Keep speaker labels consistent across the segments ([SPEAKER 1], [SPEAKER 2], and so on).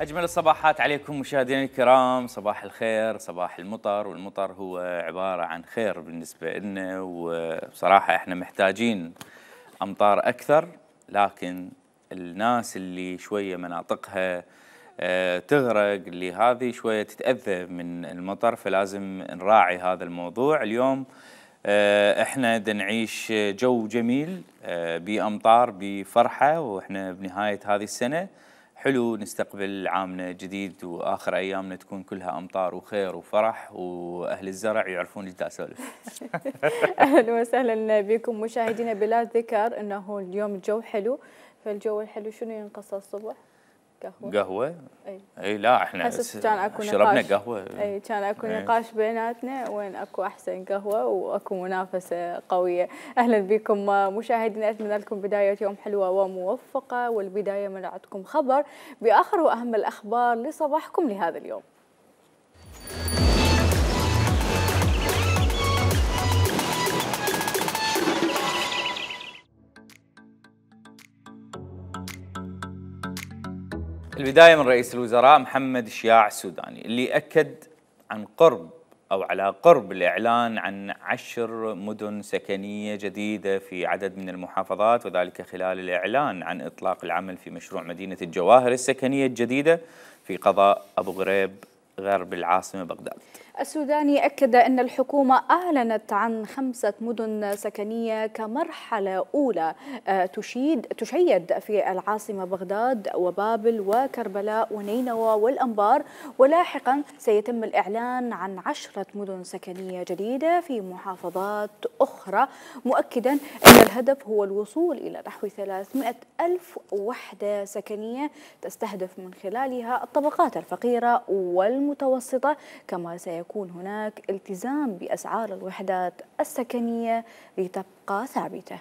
[SPEAKER 1] أجمل الصباحات عليكم مشاهدينا الكرام، صباح الخير، صباح المطر، والمطر هو عبارة عن خير بالنسبة لنا، وبصراحة احنا محتاجين أمطار أكثر، لكن الناس اللي شوية مناطقها تغرق، اللي هذه شوية تتأذى من المطر، فلازم نراعي هذا الموضوع. اليوم احنا نعيش جو جميل بأمطار بفرحة، واحنا بنهاية هذه السنة حلو نستقبل عامنا جديد، واخر ايامنا تكون كلها امطار وخير وفرح، واهل الزرع يعرفون ايش دا اسولف.
[SPEAKER 2] اهلا وسهلا بكم مشاهدينا. بلا ذكر انه اليوم الجو حلو، فالجو الحلو شنو ينقص الصبح؟
[SPEAKER 1] قهوة؟ اي لا احنا شربنا قهوة.
[SPEAKER 2] اي كان اكو نقاش بيناتنا وين اكو احسن قهوة واكو منافسة قوية. اهلا بكم مشاهدينا، اتمنى لكم بداية يوم حلوة وموفقة، والبداية من عندكم خبر باخر واهم الاخبار لصباحكم لهذا اليوم.
[SPEAKER 1] البداية من رئيس الوزراء محمد شياع السوداني، اللي أكد عن قرب أو على قرب الإعلان عن 10 مدن سكنية جديدة في عدد من المحافظات، وذلك خلال الإعلان عن إطلاق العمل في مشروع مدينة الجواهر السكنية الجديدة في قضاء أبو غريب غرب العاصمة بغداد.
[SPEAKER 2] السوداني أكد أن الحكومة أعلنت عن 5 مدن سكنية كمرحلة أولى تشيد في العاصمة بغداد وبابل وكربلاء ونينوى والأنبار، ولاحقا سيتم الإعلان عن 10 مدن سكنية جديدة في محافظات أخرى، مؤكدا أن الهدف هو الوصول إلى نحو 300 ألف وحدة سكنية تستهدف من خلالها الطبقات الفقيرة والمتوسطة، كما سيكون هناك التزام بأسعار الوحدات السكنية لتبقى ثابتة.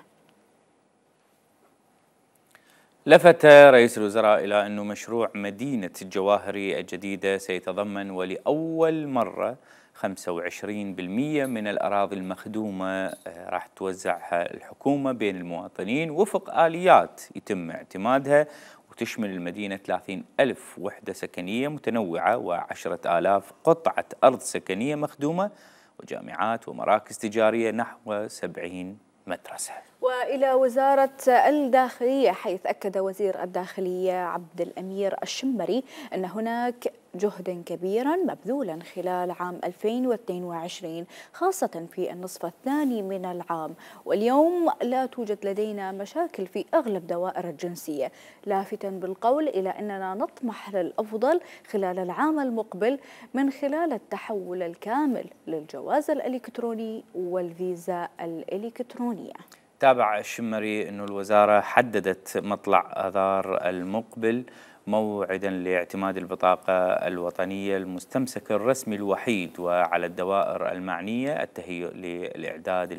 [SPEAKER 1] لفت رئيس الوزراء إلى أن مشروع مدينة الجواهري الجديدة سيتضمن ولأول مرة 25% من الأراضي المخدومة راح توزعها الحكومة بين المواطنين وفق آليات يتم اعتمادها، وتشمل المدينة 30 ألف وحدة سكنية متنوعة و10,000 قطعة أرض سكنية مخدومة، وجامعات ومراكز تجارية نحو 70 مدرسة.
[SPEAKER 2] وإلى وزارة الداخلية، حيث أكد وزير الداخلية عبد الأمير الشمري أن هناك جهدا كبيرا مبذولا خلال عام 2022 خاصة في النصف الثاني من العام، واليوم لا توجد لدينا مشاكل في أغلب دوائر الجنسية، لافتا بالقول إلى أننا نطمح للأفضل خلال العام المقبل من خلال التحول الكامل للجواز الإلكتروني والفيزا الإلكترونية.
[SPEAKER 1] تابع الشمري أن الوزارة حددت مطلع آذار المقبل موعدا لاعتماد البطاقة الوطنية المستمسك الرسمي الوحيد، وعلى الدوائر المعنية التهيؤ للإعداد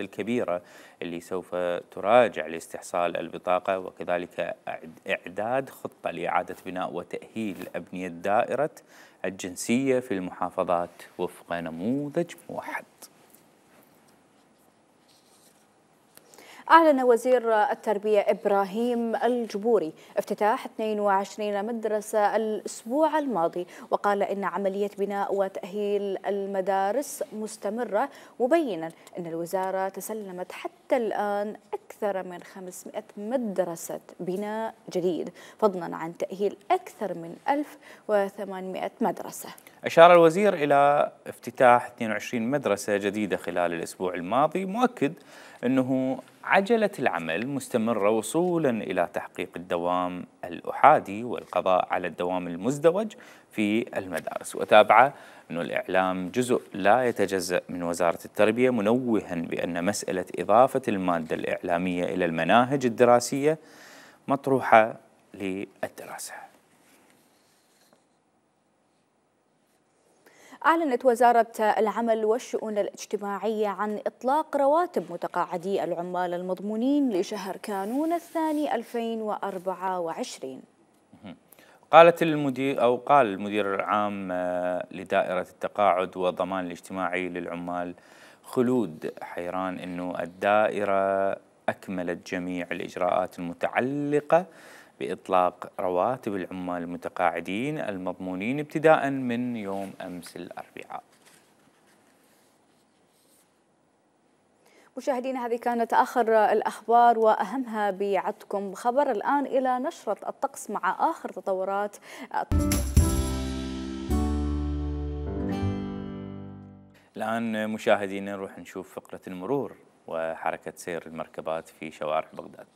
[SPEAKER 1] الكبيرة اللي سوف تراجع لاستحصال البطاقة، وكذلك إعداد خطة لإعادة بناء وتأهيل أبنية دائرة الجنسية في المحافظات وفق نموذج موحد.
[SPEAKER 2] أعلن وزير التربية إبراهيم الجبوري افتتاح 22 مدرسة الأسبوع الماضي، وقال إن عملية بناء وتأهيل المدارس مستمرة، مبينا أن الوزارة تسلمت حتى الآن أكثر من 500 مدرسة بناء جديد، فضلا عن تأهيل أكثر من 1800 مدرسة.
[SPEAKER 1] أشار الوزير إلى افتتاح 22 مدرسة جديدة خلال الأسبوع الماضي، مؤكد أنه عجلة العمل مستمرة وصولا إلى تحقيق الدوام الأحادي والقضاء على الدوام المزدوج في المدارس. وتابع أن الإعلام جزء لا يتجزأ من وزارة التربية، منوها بأن مسألة إضافة المادة الإعلامية إلى المناهج الدراسية مطروحة للدراسة.
[SPEAKER 2] أعلنت وزارة العمل والشؤون الاجتماعية عن إطلاق رواتب متقاعدي العمال المضمونين لشهر كانون الثاني 2024.
[SPEAKER 1] قال المدير العام لدائرة التقاعد والضمان الاجتماعي للعمال خلود حيران أنه الدائرة أكملت جميع الإجراءات المتعلقة بإطلاق رواتب العمال المتقاعدين المضمونين ابتداء من يوم أمس الأربعاء.
[SPEAKER 2] مشاهدينا، هذه كانت آخر الأخبار وأهمها بيعدكم خبر. الآن إلى نشرة الطقس مع آخر تطورات.
[SPEAKER 1] الآن مشاهدينا نروح نشوف فقرة المرور وحركة سير المركبات في شوارع بغداد.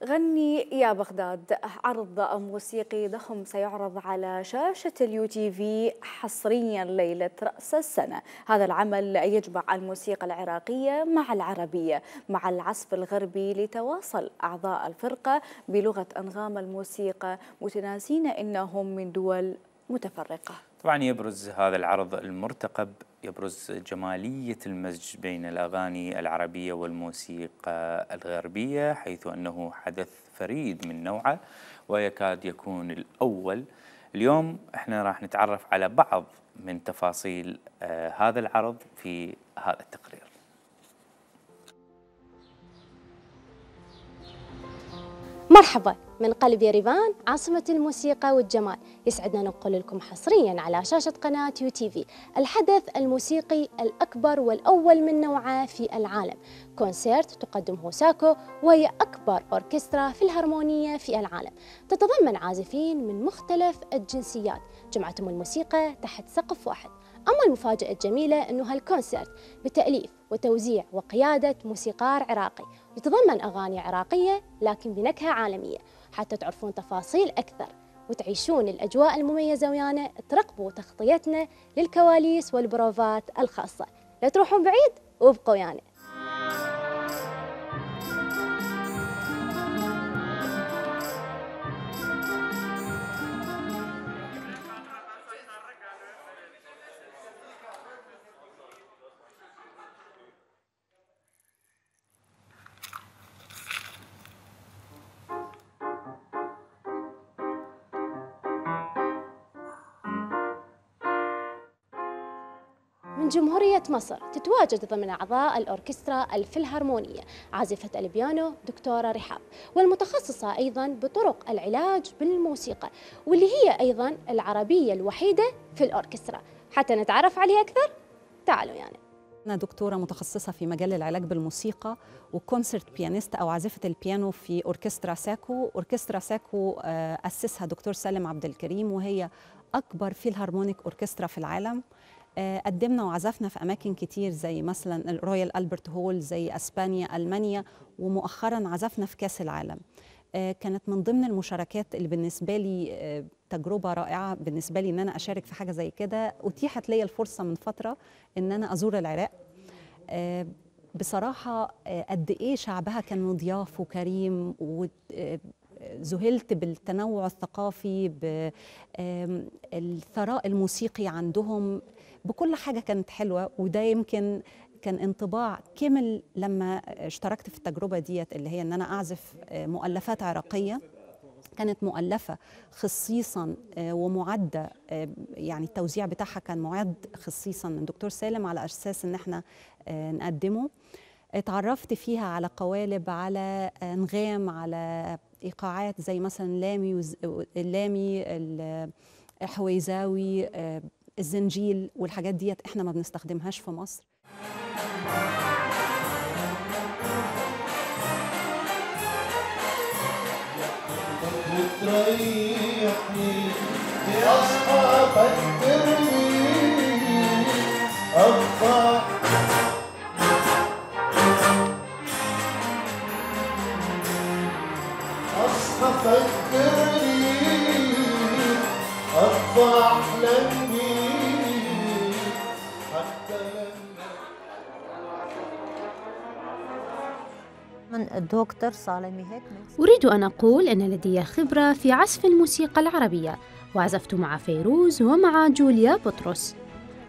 [SPEAKER 2] غني يا بغداد، عرض موسيقي ضخم سيعرض على شاشة اليو تي في حصريا ليلة رأس السنة. هذا العمل يجمع الموسيقى العراقية مع العربية مع العزف الغربي لتواصل أعضاء الفرقة بلغة أنغام الموسيقى، متناسين إنهم من دول متفرقة.
[SPEAKER 1] طبعا يبرز هذا العرض المرتقب يبرز جمالية المزج بين الأغاني العربية والموسيقى الغربية، حيث أنه حدث فريد من نوعه ويكاد يكون الأول. اليوم احنا راح نتعرف على بعض من تفاصيل هذا العرض في هذا التقرير.
[SPEAKER 3] مرحبا من قلب يريفان، عاصمة الموسيقى والجمال. يسعدنا ننقل لكم حصريا على شاشة قناة يو تي في الحدث الموسيقي الأكبر والأول من نوعه في العالم، كونسيرت تقدمه ساكو، وهي أكبر أوركسترا في الهرمونية في العالم، تتضمن عازفين من مختلف الجنسيات جمعتهم الموسيقى تحت سقف واحد. أما المفاجأة الجميلة أنه هالكونسيرت بتأليف وتوزيع وقيادة موسيقار عراقي، يتضمن أغاني عراقية لكن بنكهة عالمية. حتى تعرفون تفاصيل أكثر وتعيشون الأجواء المميزة ويانا، ترقبوا تغطيتنا للكواليس والبروفات الخاصة. لا تروحون بعيد وابقوا ويانا. من جمهورية مصر تتواجد ضمن أعضاء الأوركسترا الفلهرمونية عازفة البيانو دكتورة رحاب، والمتخصصة أيضا بطرق العلاج بالموسيقى، واللي هي أيضا العربية الوحيدة في الأوركسترا. حتى نتعرف عليها أكثر تعالوا يعني.
[SPEAKER 4] أنا دكتورة متخصصة في مجال العلاج بالموسيقى وكونسرت بيانيست أو عازفة البيانو في أوركسترا ساكو. أوركسترا ساكو أسسها دكتور سالم عبد الكريم، وهي أكبر فيلهارمونيك أوركسترا في العالم. قدمنا وعزفنا في أماكن كتير زي مثلا الرويال ألبرت هول، زي أسبانيا، ألمانيا، ومؤخرا عزفنا في كأس العالم. كانت من ضمن المشاركات اللي بالنسبة لي تجربة رائعة بالنسبة لي إن أنا أشارك في حاجة زي كده. أتيحت لي الفرصة من فترة إن أنا أزور العراق. بصراحة قد إيه شعبها كان مضياف وكريم، وذهلت بالتنوع الثقافي، بالثراء الموسيقي عندهم، بكل حاجة كانت حلوة. وده يمكن كان انطباع كامل لما اشتركت في التجربة ديت، اللي هي ان انا اعزف مؤلفات عراقية كانت مؤلفة خصيصا ومعدة، يعني التوزيع بتاعها كان معد خصيصا من دكتور سالم على اساس ان احنا نقدمه. اتعرفت فيها على قوالب، على انغام، على ايقاعات زي مثلا اللامي، الحويزاوي، الزنجيل، والحاجات ديت احنا ما بنستخدمهاش في مصر.
[SPEAKER 5] تريحني بأصحابك ترميني أطلع أصحابك ترميني أطلع أحلم بيك حتى
[SPEAKER 6] من طبعا الدكتور سالم يهيت.
[SPEAKER 3] أريد أن أقول أن لدي خبرة في عزف الموسيقى العربية، وعزفت مع فيروز ومع جوليا بطرس.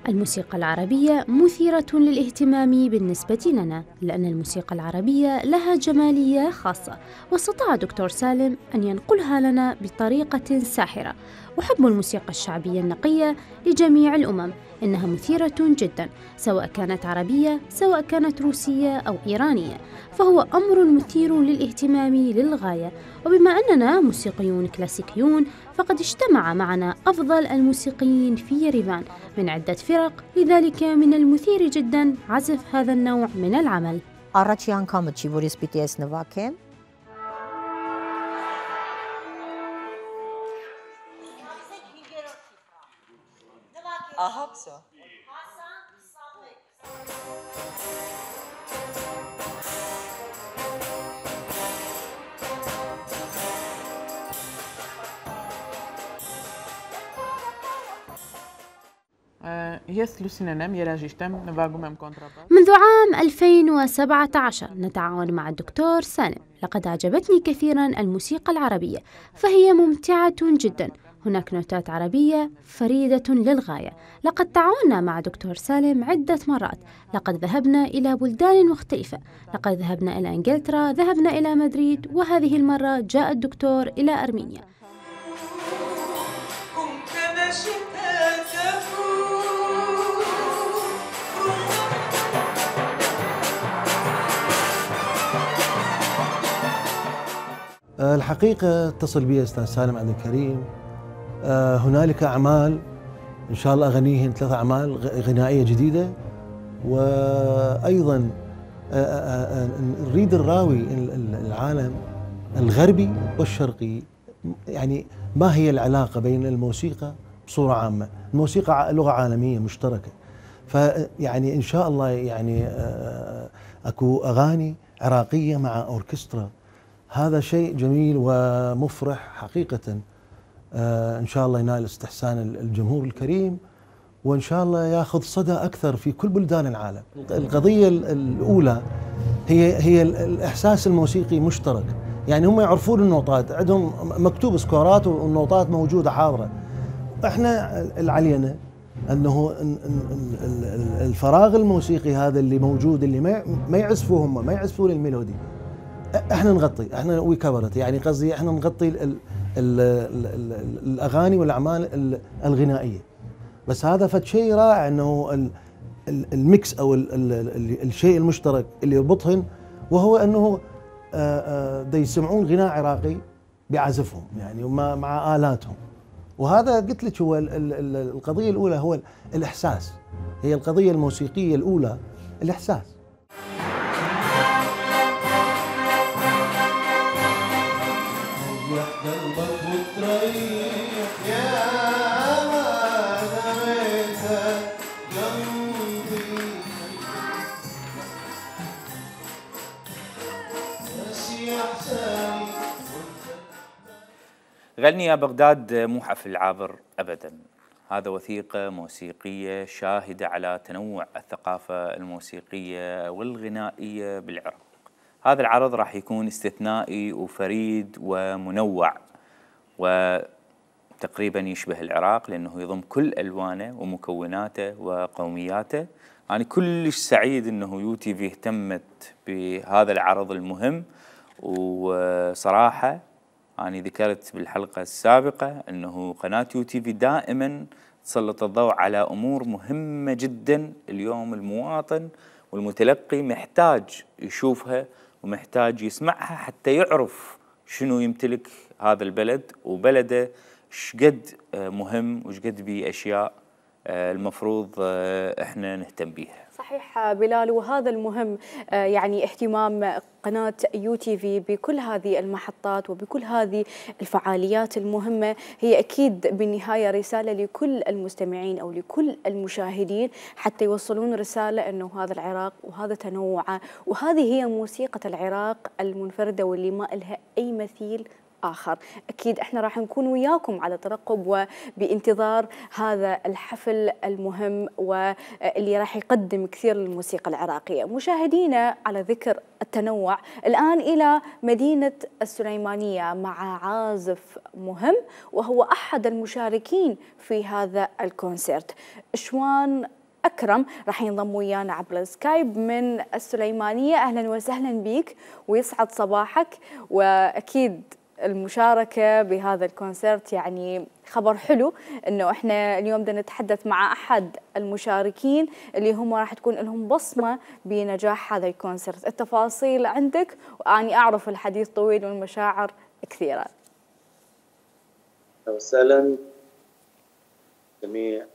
[SPEAKER 3] الموسيقى العربية مثيرة للاهتمام بالنسبة لنا، لأن الموسيقى العربية لها جمالية خاصة، واستطاع دكتور سالم أن ينقلها لنا بطريقة ساحرة. أحب الموسيقى الشعبية النقية لجميع الأمم، إنها مثيرة جدا، سواء كانت عربية سواء كانت روسية أو إيرانية، فهو أمر مثير للاهتمام للغاية. وبما أننا موسيقيون كلاسيكيون، فقد اجتمع معنا أفضل الموسيقيين في يريفان من عدة فرق، لذلك من المثير جدا عزف هذا النوع من العمل.
[SPEAKER 6] Առաջի անգամը չի որ ես պիտի ես նվագեմ։
[SPEAKER 7] Ահա всё.
[SPEAKER 8] Ես Լուսինեն եմ, երաժիշտ եմ, նվագում եմ կոնտրաբաս.
[SPEAKER 3] منذ عام 2017 نتعاون مع الدكتور سالم. لقد أعجبتني كثيرا الموسيقى العربية، فهي ممتعة جدا. هناك نوتات عربية فريدة للغاية. لقد تعاوننا مع دكتور سالم عدة مرات، لقد ذهبنا إلى بلدان مختلفة، لقد ذهبنا إلى إنجلترا، ذهبنا إلى مدريد، وهذه المرة جاء الدكتور إلى أرمينيا.
[SPEAKER 5] الحقيقة اتصل بي أستاذ سالم عبد الكريم. هنالك أعمال إن شاء الله أغنيهن 3 أعمال غنائية جديدة، وأيضا نريد نراوي العالم الغربي والشرقي يعني ما هي العلاقة بين الموسيقى بصورة عامة. الموسيقى لغة عالمية مشتركة، فيعني إن شاء الله يعني أكو أغاني عراقية مع أوركسترا. هذا شيء جميل ومفرح حقيقة. إن شاء الله ينال استحسان الجمهور الكريم، وإن شاء الله يأخذ صدى أكثر في كل بلدان العالم. القضية الأولى هي الإحساس الموسيقي مشترك، يعني هم يعرفون النوطات، عندهم مكتوب سكورات والنوطات موجودة حاضرة. احنا علينا أنه الفراغ الموسيقي هذا اللي موجود، اللي ما يعزفوه هم، ما يعزفون الميلودي، احنا نغطي، احنا وي كفرت، يعني قصدي احنا نغطي الاغاني والاعمال الغنائيه. بس هذا فد شيء رائع، انه الميكس او الشيء المشترك اللي يربطهن، وهو انه دا يسمعون غناء عراقي بعزفهم يعني مع آلاتهم. وهذا قلت لك هو القضيه الاولى، هو الاحساس، هي القضيه الموسيقيه الاولى الاحساس.
[SPEAKER 1] غني يا بغداد مو حفل عابر أبدا، هذا وثيقة موسيقية شاهدة على تنوع الثقافة الموسيقية والغنائية بالعراق. هذا العرض راح يكون استثنائي وفريد ومنوع، وتقريبا يشبه العراق لأنه يضم كل ألوانه ومكوناته وقومياته. أنا كلش سعيد أنه يو تي في اهتمت بهذا العرض المهم. وصراحة أنا ذكرت بالحلقة السابقة أنه قناة يو تي في دائما تسلط الضوء على أمور مهمة جدا. اليوم المواطن والمتلقي محتاج يشوفها ومحتاج يسمعها حتى يعرف شنو يمتلك هذا البلد، وبلده شقد مهم وشقد بيه أشياء المفروض احنا نهتم بيها.
[SPEAKER 2] صحيح بلال، وهذا المهم يعني اهتمام قناة يو تي في بكل هذه المحطات وبكل هذه الفعاليات المهمة، هي أكيد بالنهاية رسالة لكل المستمعين أو لكل المشاهدين، حتى يوصلون رسالة أنه هذا العراق وهذا تنوعه، وهذه هي موسيقى العراق المنفردة واللي ما إلها أي مثيل آخر. أكيد إحنا راح نكون وياكم على ترقب وبانتظار هذا الحفل المهم واللي راح يقدم كثير للموسيقى العراقية. مشاهدينا، على ذكر التنوع، الآن إلى مدينة السليمانية مع عازف مهم وهو أحد المشاركين في هذا الكونسيرت. شوان أكرم راح ينضم ويانا عبر السكايب من السليمانية. أهلا وسهلا بك ويسعد صباحك. وأكيد المشاركة بهذا الكونسيرت يعني خبر حلو، انه احنا اليوم بدنا نتحدث مع احد المشاركين اللي هم راح تكون لهم بصمة بنجاح هذا الكونسيرت. التفاصيل عندك، واني اعرف الحديث طويل والمشاعر كثيرة.
[SPEAKER 9] اهلا وسهلا جميع.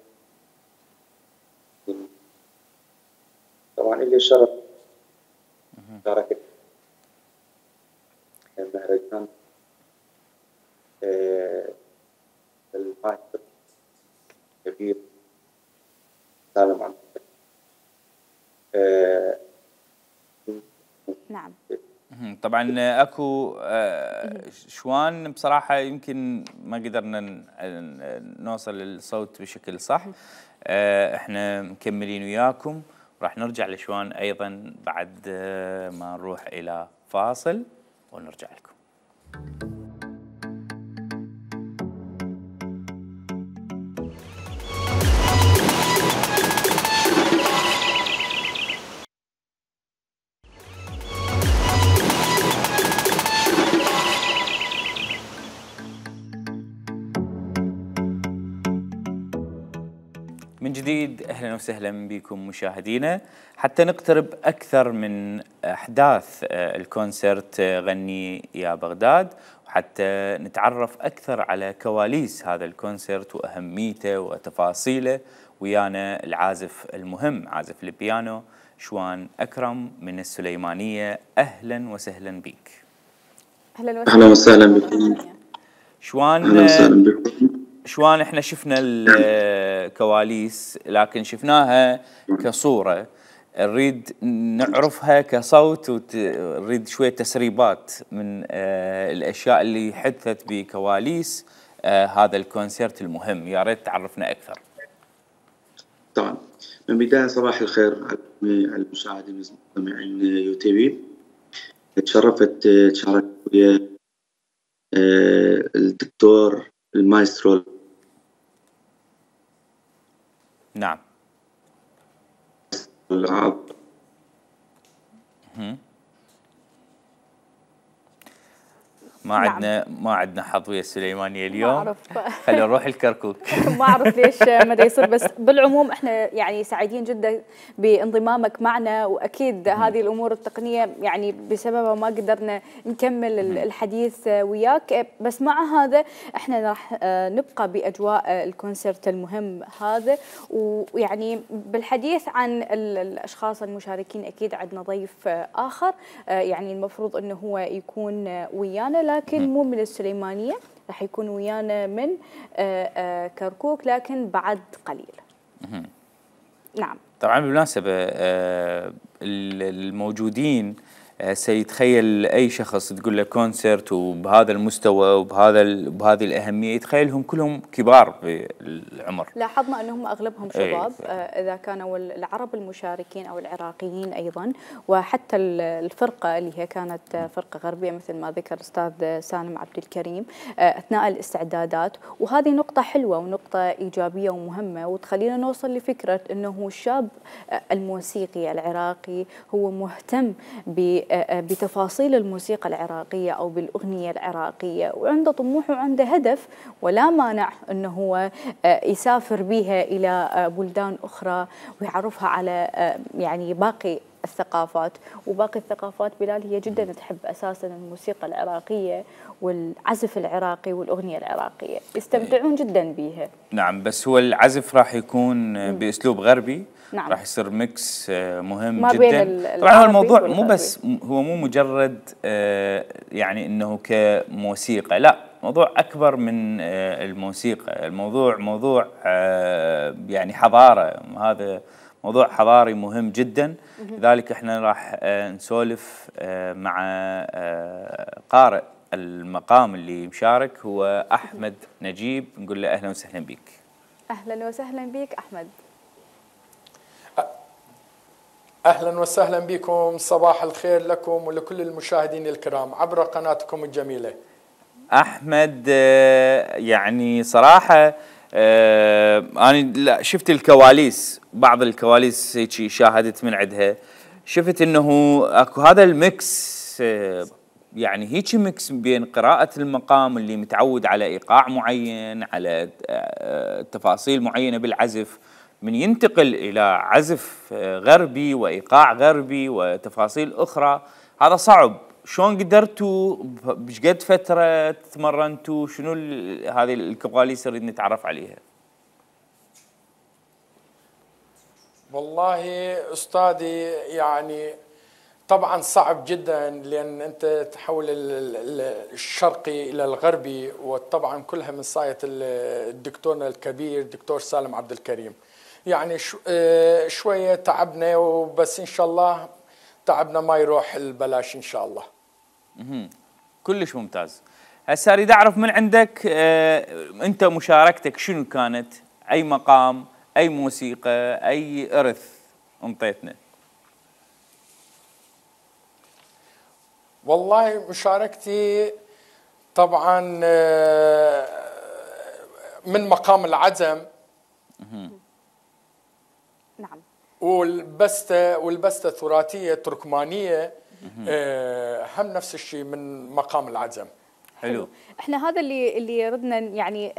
[SPEAKER 9] طبعا لي شرف مشاركة المهرجان المايسترو الكبير سالم عبد
[SPEAKER 2] نعم.
[SPEAKER 1] طبعا اكو شوان بصراحه يمكن ما قدرنا نوصل للصوت بشكل صح. احنا مكملين وياكم، راح نرجع لشوان ايضا بعد ما نروح الى فاصل ونرجع لكم. من جديد اهلا وسهلا بكم مشاهدينا. حتى نقترب اكثر من احداث الكونسرت غني يا بغداد، وحتى نتعرف اكثر على كواليس هذا الكونسرت واهميته وتفاصيله، ويانا العازف المهم عازف البيانو شوان اكرم من السليمانيه. اهلا وسهلا بك.
[SPEAKER 9] اهلا وسهلا بكم
[SPEAKER 1] شوان.
[SPEAKER 9] اهلا وسهلا بكم.
[SPEAKER 1] شوان احنا شفنا الكواليس لكن شفناها كصورة، نريد نعرفها كصوت، ونريد شوية تسريبات من الأشياء اللي حدثت بكواليس هذا الكونسيرت المهم. يا ريت تعرفنا أكثر.
[SPEAKER 9] طبعا من بداية صباح الخير على المشاهدين المستمعين يو تي في. تشرفت تشاركت ويا الدكتور المايسترو.
[SPEAKER 1] نعم. ما عندنا حظ ويا السليمانيه اليوم. خلينا نروح الكركوك.
[SPEAKER 2] ما اعرف ليش مدى يصير، بس بالعموم احنا يعني سعيدين جدا بانضمامك معنا، واكيد هذه الامور التقنيه يعني بسببها ما قدرنا نكمل الحديث وياك. بس مع هذا احنا راح نبقى باجواء الكونسرت المهم هذا، ويعني بالحديث عن الاشخاص المشاركين اكيد عندنا ضيف اخر يعني المفروض انه هو يكون ويانا، لكن مو من السليمانيه، راح يكون ويانا من كركوك لكن بعد قليل. نعم.
[SPEAKER 1] طبعا بالمناسبة الموجودين سيتخيل أي شخص تقول له كونسرت وبهذا المستوى وبهذه الأهمية يتخيلهم كلهم كبار بالعمر.
[SPEAKER 2] لاحظنا أنهم أغلبهم شباب. إذا كانوا العرب المشاركين أو العراقيين أيضا، وحتى الفرقة اللي هي كانت فرقة غربية مثل ما ذكر الأستاذ سالم عبد الكريم أثناء الاستعدادات. وهذه نقطة حلوة ونقطة إيجابية ومهمة، وتخلينا نوصل لفكرة أنه الشاب الموسيقي العراقي هو مهتم بتفاصيل الموسيقى العراقية أو بالأغنية العراقية، وعنده طموح وعنده هدف، ولا مانع أنه هو يسافر بها إلى بلدان أخرى ويعرفها على يعني باقي الثقافات. وباقي الثقافات بلال هي جدا تحب أساسا الموسيقى العراقية والعزف العراقي والأغنية العراقية، يستمتعون جدا بها.
[SPEAKER 1] نعم، بس هو العزف راح يكون بأسلوب غربي.
[SPEAKER 2] نعم.
[SPEAKER 1] راح يصير ميكس مهم
[SPEAKER 2] ما
[SPEAKER 1] جدا.
[SPEAKER 2] بين
[SPEAKER 1] طبعا هو الموضوع مو بس هو مو مجرد يعني انه كموسيقى، لا، موضوع اكبر من الموسيقى. الموضوع موضوع يعني حضاره، هذا موضوع حضاري مهم جدا. لذلك احنا راح نسولف مع قارئ المقام اللي مشارك هو أحمد نجيب، نقول له أهلا وسهلا بك.
[SPEAKER 2] أهلا وسهلا بك أحمد.
[SPEAKER 10] أهلا وسهلا بكم، صباح الخير لكم ولكل المشاهدين الكرام عبر قناتكم الجميلة.
[SPEAKER 1] أحمد يعني صراحة أنا شفت الكواليس، بعض الكواليس هيك شاهدت من عندها، شفت أنه أكو هذا الميكس، يعني هيك ميكس بين قراءة المقام اللي متعود على إيقاع معين، على تفاصيل معينة بالعزف، من ينتقل إلى عزف غربي وإيقاع غربي وتفاصيل أخرى. هذا صعب. شلون قدرتوا بشقد فترة تمرنتوا؟ شنو هذه الكواليس نريد نتعرف عليها؟
[SPEAKER 10] والله أستاذي يعني طبعا صعب جدا، لأن أنت تحول الشرقي إلى الغربي، وطبعا كلها من صاية الدكتورنا الكبير دكتور سالم عبد الكريم. يعني شوية تعبنا، وبس إن شاء الله تعبنا ما يروح البلاش إن شاء الله.
[SPEAKER 1] كلش ممتاز. هسه اريد اعرف من عندك انت مشاركتك شنو كانت؟ اي مقام، اي موسيقى، اي ارث انطيتنا؟
[SPEAKER 10] والله مشاركتي طبعا من مقام العزم.
[SPEAKER 2] نعم.
[SPEAKER 10] والبستة ثلاثية تركمانية، هم نفس الشيء من مقام العزم.
[SPEAKER 1] حلو.
[SPEAKER 2] احنا هذا اللي ردنا يعني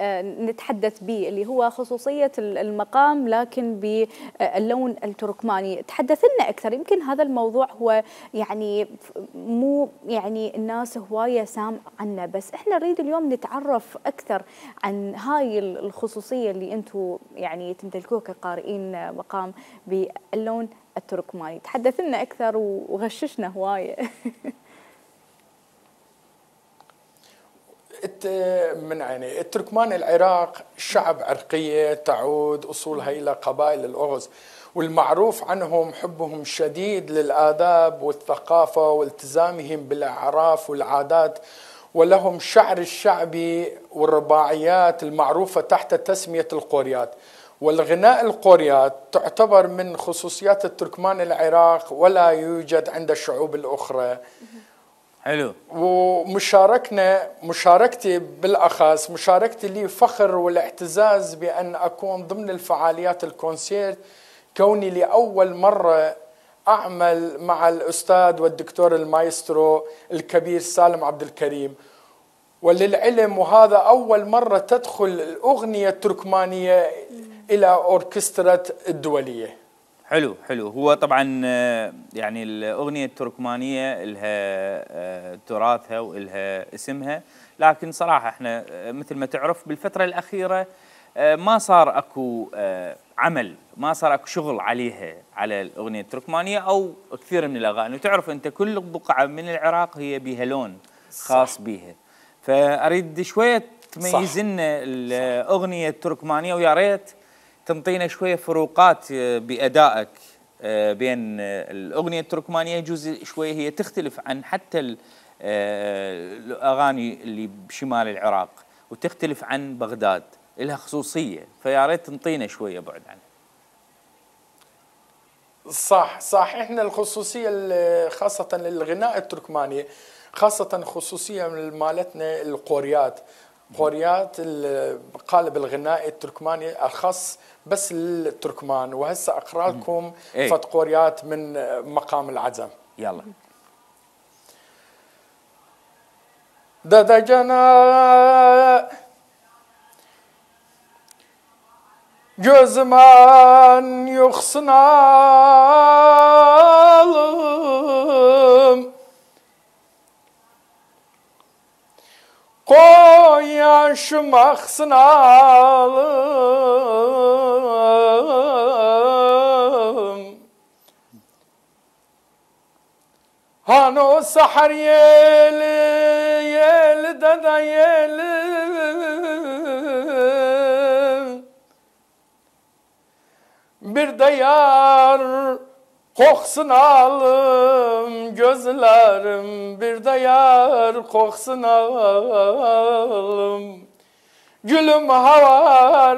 [SPEAKER 2] نتحدث به، اللي هو خصوصية المقام لكن باللون التركماني. تحدث لنا اكثر، يمكن هذا الموضوع هو يعني مو يعني الناس هواية سامع عنه، بس احنا نريد اليوم نتعرف اكثر عن هاي الخصوصية اللي انتم يعني تمتلكوها كقارئين مقام باللون التركماني. تحدث لنا اكثر وغششنا هواية.
[SPEAKER 10] من عيني التركمان العراق شعب عرقية تعود أصولها إلى قبائل الأغز، والمعروف عنهم حبهم شديد للآداب والثقافة والتزامهم بالأعراف والعادات، ولهم شعر الشعبي والرباعيات المعروفة تحت تسمية القوريات. والغناء القوريات تعتبر من خصوصيات التركمان العراق ولا يوجد عند الشعوب الأخرى.
[SPEAKER 1] حلو.
[SPEAKER 10] مشاركتي بالأخص مشاركتي لي فخر والاعتزاز بأن أكون ضمن الفعاليات الكونسيرت، كوني لأول مرة أعمل مع الأستاذ والدكتور المايسترو الكبير سالم عبد الكريم. وللعلم وهذا أول مرة تدخل الأغنية التركمانية إلى أوركسترا الدولية.
[SPEAKER 1] حلو حلو. هو طبعا يعني الأغنية التركمانية لها تراثها وإلها اسمها، لكن صراحة احنا مثل ما تعرف بالفترة الأخيرة ما صار اكو عمل، ما صار اكو شغل عليها، على الأغنية التركمانية أو كثير من الأغاني. وتعرف أنت كل بقعة من العراق هي بها لون خاص بها، فأريد شوية تميز لنا الأغنية التركمانية، ويا ريت تنطينا شوية فروقات بأدائك بين الأغنية التركمانية. يجوز شوية هي تختلف عن حتى الأغاني اللي بشمال العراق، وتختلف عن بغداد، لها خصوصية، فيا ريت تنطينا شوية بعد عنها.
[SPEAKER 10] صح. احنا الخصوصية خاصة للغناء التركماني، خاصة خصوصية من مالتنا القوريات. قوريات قالب الغناء التركماني الخاص بس للتركمان. وهسه اقرا لكم فت قوريات من مقام العزم.
[SPEAKER 1] يلا.
[SPEAKER 10] ددجنا gözman yoksunalım koy yaşım aksınalım hano sahar yeli yeli dada yeli bir de yar Kokusunu alım gözlerim bir de yar kokusunu alım. Gülüm havar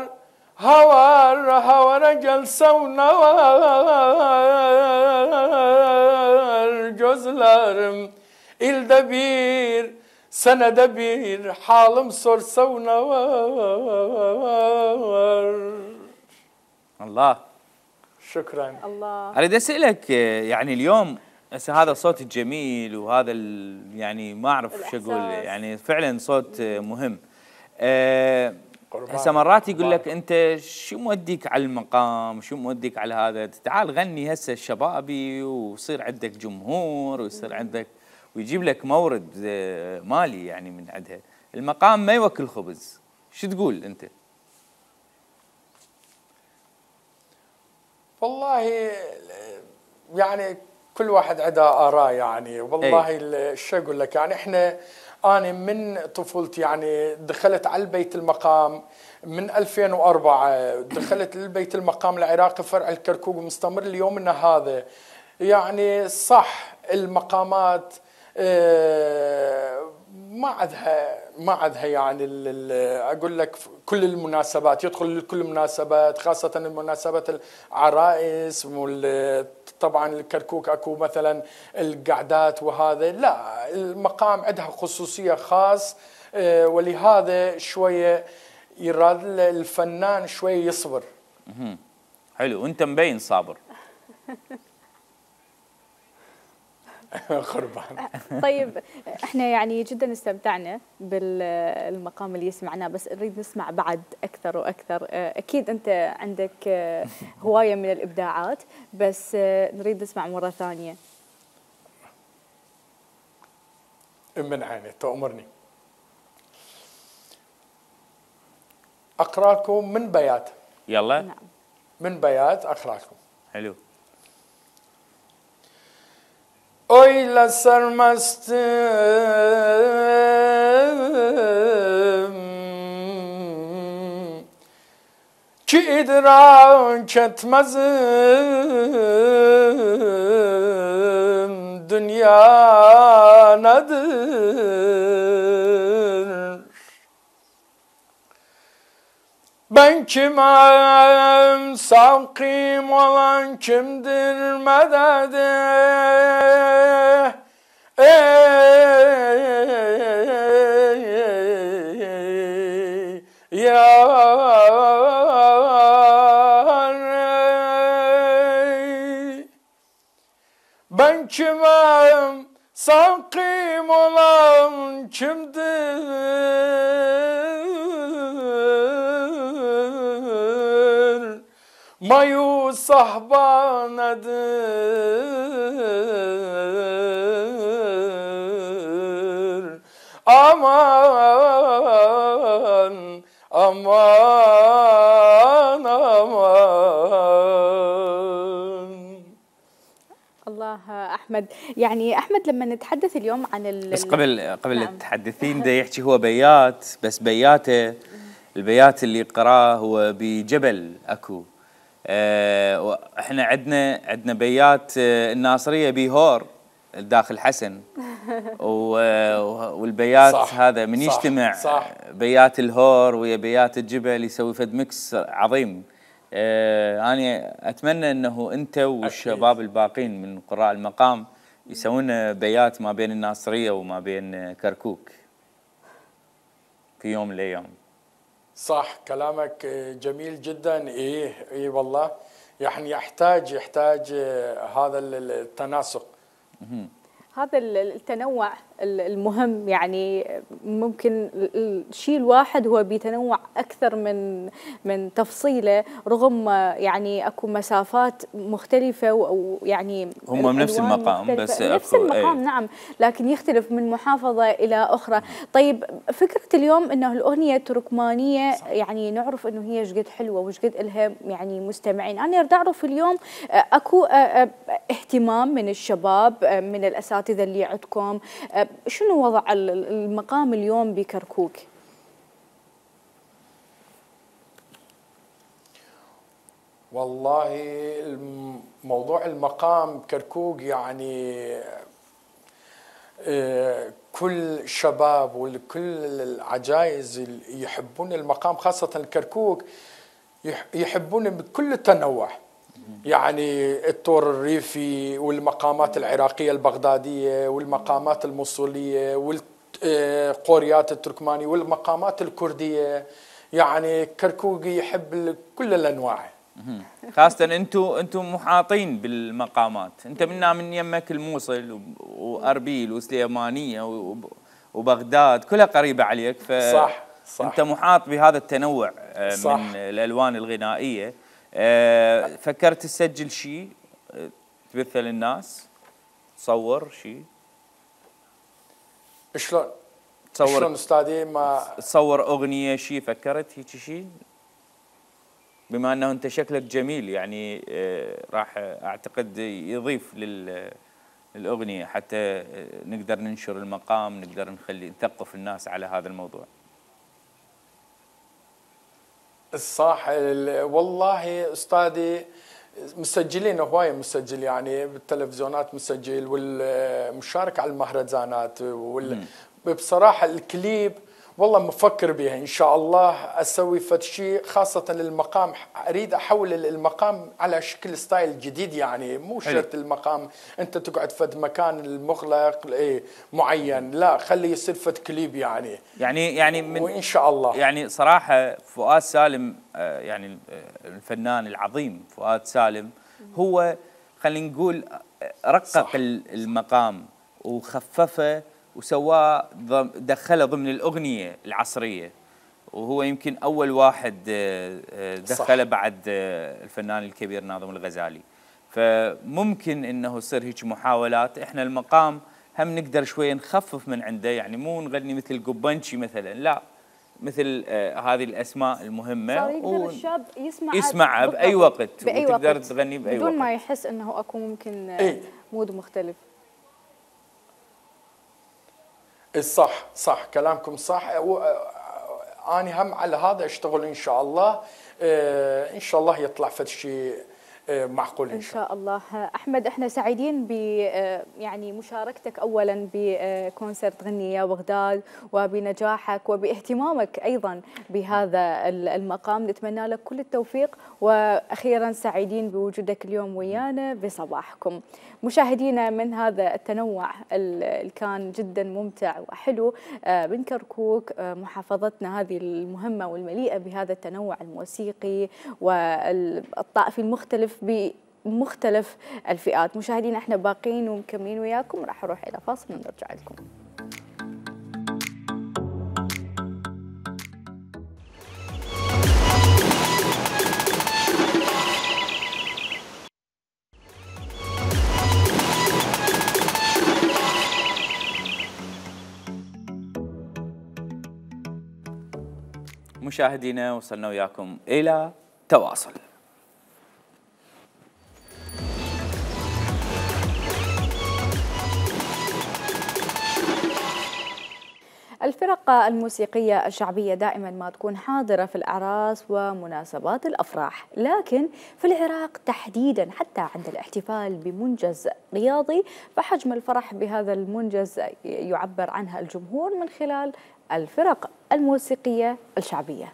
[SPEAKER 10] havara gelse ne var gözlerim ilde bir senede bir halim sorsa ne var.
[SPEAKER 1] الله.
[SPEAKER 10] شكرا.
[SPEAKER 2] الله.
[SPEAKER 1] اريد اسالك يعني اليوم هسه هذا الصوت الجميل وهذا يعني ما اعرف شو اقول، يعني فعلا صوت مهم. هسه مرات يقول لك انت شو موديك على المقام، شو موديك على هذا، تعال غني هسه الشبابي ويصير عندك جمهور ويصير عندك ويجيب لك مورد مالي يعني من عندها. المقام ما يوكل خبز، شو تقول انت؟
[SPEAKER 10] والله يعني كل واحد عنده آراء يعني، والله شو اقول لك يعني أنا من طفولتي يعني دخلت على البيت المقام من 2004، دخلت للبيت المقام العراقي فرع الكركوك ومستمر ليومنا هذا. يعني صح المقامات ما عدها يعني اقول لك كل المناسبات، يدخل لكل المناسبات خاصه المناسبات العرائس طبعا الكركوك اكو مثلا القعدات وهذا، لا المقام عندها خصوصيه خاص، ولهذا شويه يراد الفنان شويه يصبر.
[SPEAKER 1] حلو، وانت مبين صابر.
[SPEAKER 10] خربان.
[SPEAKER 2] طيب احنا يعني جدا استمتعنا بالمقام اللي سمعناه، بس نريد نسمع بعد اكثر واكثر. اكيد انت عندك هوايه من الابداعات، بس نريد نسمع مره ثانيه.
[SPEAKER 10] من عيني تأمرني. اقرا لكم من بيات.
[SPEAKER 1] يلا.
[SPEAKER 2] نعم.
[SPEAKER 10] من بيات اقرا لكم.
[SPEAKER 1] حلو.
[SPEAKER 10] Öyle sarmastım ki idrak etmezim dünya nedir? Ben kimim, savkim olan kimdir medede? Ben kimim, savkim olan kimdir? Mayus sahbanedir. Aman, aman, aman.
[SPEAKER 2] الله احمد، يعني احمد لما نتحدث اليوم عن
[SPEAKER 1] بس قبل
[SPEAKER 2] نعم.
[SPEAKER 1] التحدثين ده يحكي هو بيات، بس بياته البيات اللي قراه هو بجبل اكو. احنا عندنا بيات الناصريه بيهور داخل حسن والبيات
[SPEAKER 10] صح
[SPEAKER 1] هذا من
[SPEAKER 10] صح
[SPEAKER 1] يجتمع
[SPEAKER 10] صح.
[SPEAKER 1] بيات الهور ويا بيات الجبل يسوي فد ميكس عظيم. أنا أتمنى أنه أنت والشباب الباقين من قراء المقام يسوون بيات ما بين الناصرية وما بين كركوك في يوم من الأيام.
[SPEAKER 10] صح كلامك جميل جدا. إيه والله يعني يحتاج هذا التناسق.
[SPEAKER 2] هذا التنوع المهم، يعني ممكن الشيء الواحد هو بيتنوع أكثر من تفصيله، رغم يعني أكو مسافات مختلفة ويعني
[SPEAKER 1] هم من نفس المقام بس
[SPEAKER 2] نفس المقام نعم، لكن يختلف من محافظة إلى أخرى. طيب فكرة اليوم إنه الأغنية التركمانية يعني نعرف إنه هي شقد حلوة وشقد إلها يعني مستمعين. أنا أريد أعرف اليوم أكو اهتمام من الشباب من الأساتذة اللي عندكم، شنو وضع المقام اليوم بكركوك؟
[SPEAKER 10] والله موضوع المقام كركوك يعني كل الشباب وكل العجائز اللي يحبون المقام خاصة الكركوك يحبون بكل التنوع، يعني الطور الريفي والمقامات العراقية البغدادية والمقامات الموصولية والقوريات التركمانية والمقامات الكردية، يعني كركوك يحب كل الأنواع.
[SPEAKER 1] خاصة انتم محاطين بالمقامات، انت من يمك الموصل واربيل وسليمانية وبغداد كلها قريبة عليك،
[SPEAKER 10] صح
[SPEAKER 1] انت محاط بهذا التنوع
[SPEAKER 10] صح.
[SPEAKER 1] من الالوان الغنائية. فكرت تسجل شيء تبثه للناس، تصور شيء؟
[SPEAKER 10] شلون استاذي؟ ما
[SPEAKER 1] تصور اغنية شيء، فكرت هيك شيء؟ بما انه انت شكلك جميل يعني راح اعتقد يضيف للاغنيه حتى نقدر ننشر المقام، نقدر نثقف الناس على هذا الموضوع.
[SPEAKER 10] الصح والله استاذي مسجلين هوايه، مسجل يعني بالتلفزيونات مسجل والمشارك على المهرجانات بصراحه الكليب والله مفكر بها ان شاء الله اسوي فد شيء خاصه للمقام، اريد احول المقام على شكل ستايل جديد، يعني مو شرط المقام انت تقعد فد مكان المغلق معين، لا خلي يصير فد كليب يعني من وان شاء الله.
[SPEAKER 1] يعني صراحه فؤاد سالم يعني الفنان العظيم فؤاد سالم هو خلينا نقول رقق المقام وخففه وسواه دخله ضمن الأغنية العصرية، وهو يمكن أول واحد دخله بعد الفنان الكبير ناظم الغزالي. فممكن أنه يصير هيك محاولات، إحنا المقام هم نقدر شوية نخفف من عنده، يعني مو نغني مثل قبنشي مثلا، لا مثل هذه الأسماء المهمة
[SPEAKER 2] صار يقدر الشاب
[SPEAKER 1] يسمعها بأي وقت وتقدر تغني بأي وقت
[SPEAKER 2] بدون ما يحس أنه أكو ممكن مود مختلف.
[SPEAKER 10] صح صح كلامكم صح، أنا هم على هذا أشتغل إن شاء الله، إن شاء الله يطلع فد شيء معقول
[SPEAKER 2] إن شاء الله. أحمد احنا سعيدين ب يعني مشاركتك أولا بكونسرت غني يا بغداد وبنجاحك وباهتمامك أيضا بهذا المقام، نتمنى لك كل التوفيق، وأخيرا سعيدين بوجودك اليوم ويانا بصباحكم. مشاهدينا من هذا التنوع اللي كان جدا ممتع وحلو من كركوك محافظتنا هذه المهمة والمليئة بهذا التنوع الموسيقي والطائفي المختلف بمختلف الفئات. مشاهدينا احنا باقين ومكملين وياكم، راح اروح الى فاصل ونرجع لكم.
[SPEAKER 1] مشاهدينا وصلنا وياكم الى تواصل.
[SPEAKER 2] الفرق الموسيقية الشعبية دائما ما تكون حاضرة في الأعراس ومناسبات الأفراح، لكن في العراق تحديدا حتى عند الاحتفال بمنجز رياضي فحجم الفرح بهذا المنجز يعبر عنها الجمهور من خلال الفرق الموسيقية الشعبية.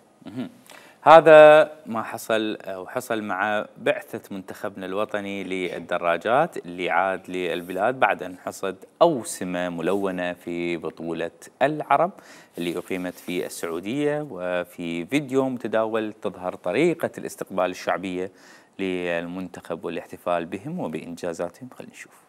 [SPEAKER 1] هذا ما حصل أو حصل مع بعثة منتخبنا الوطني للدراجات اللي عاد للبلاد بعد أن حصد أوسمة ملونة في بطولة العرب اللي أقيمت في السعودية، وفي فيديو متداول تظهر طريقة الاستقبال الشعبية للمنتخب والاحتفال بهم وبإنجازاتهم. خلينا نشوف.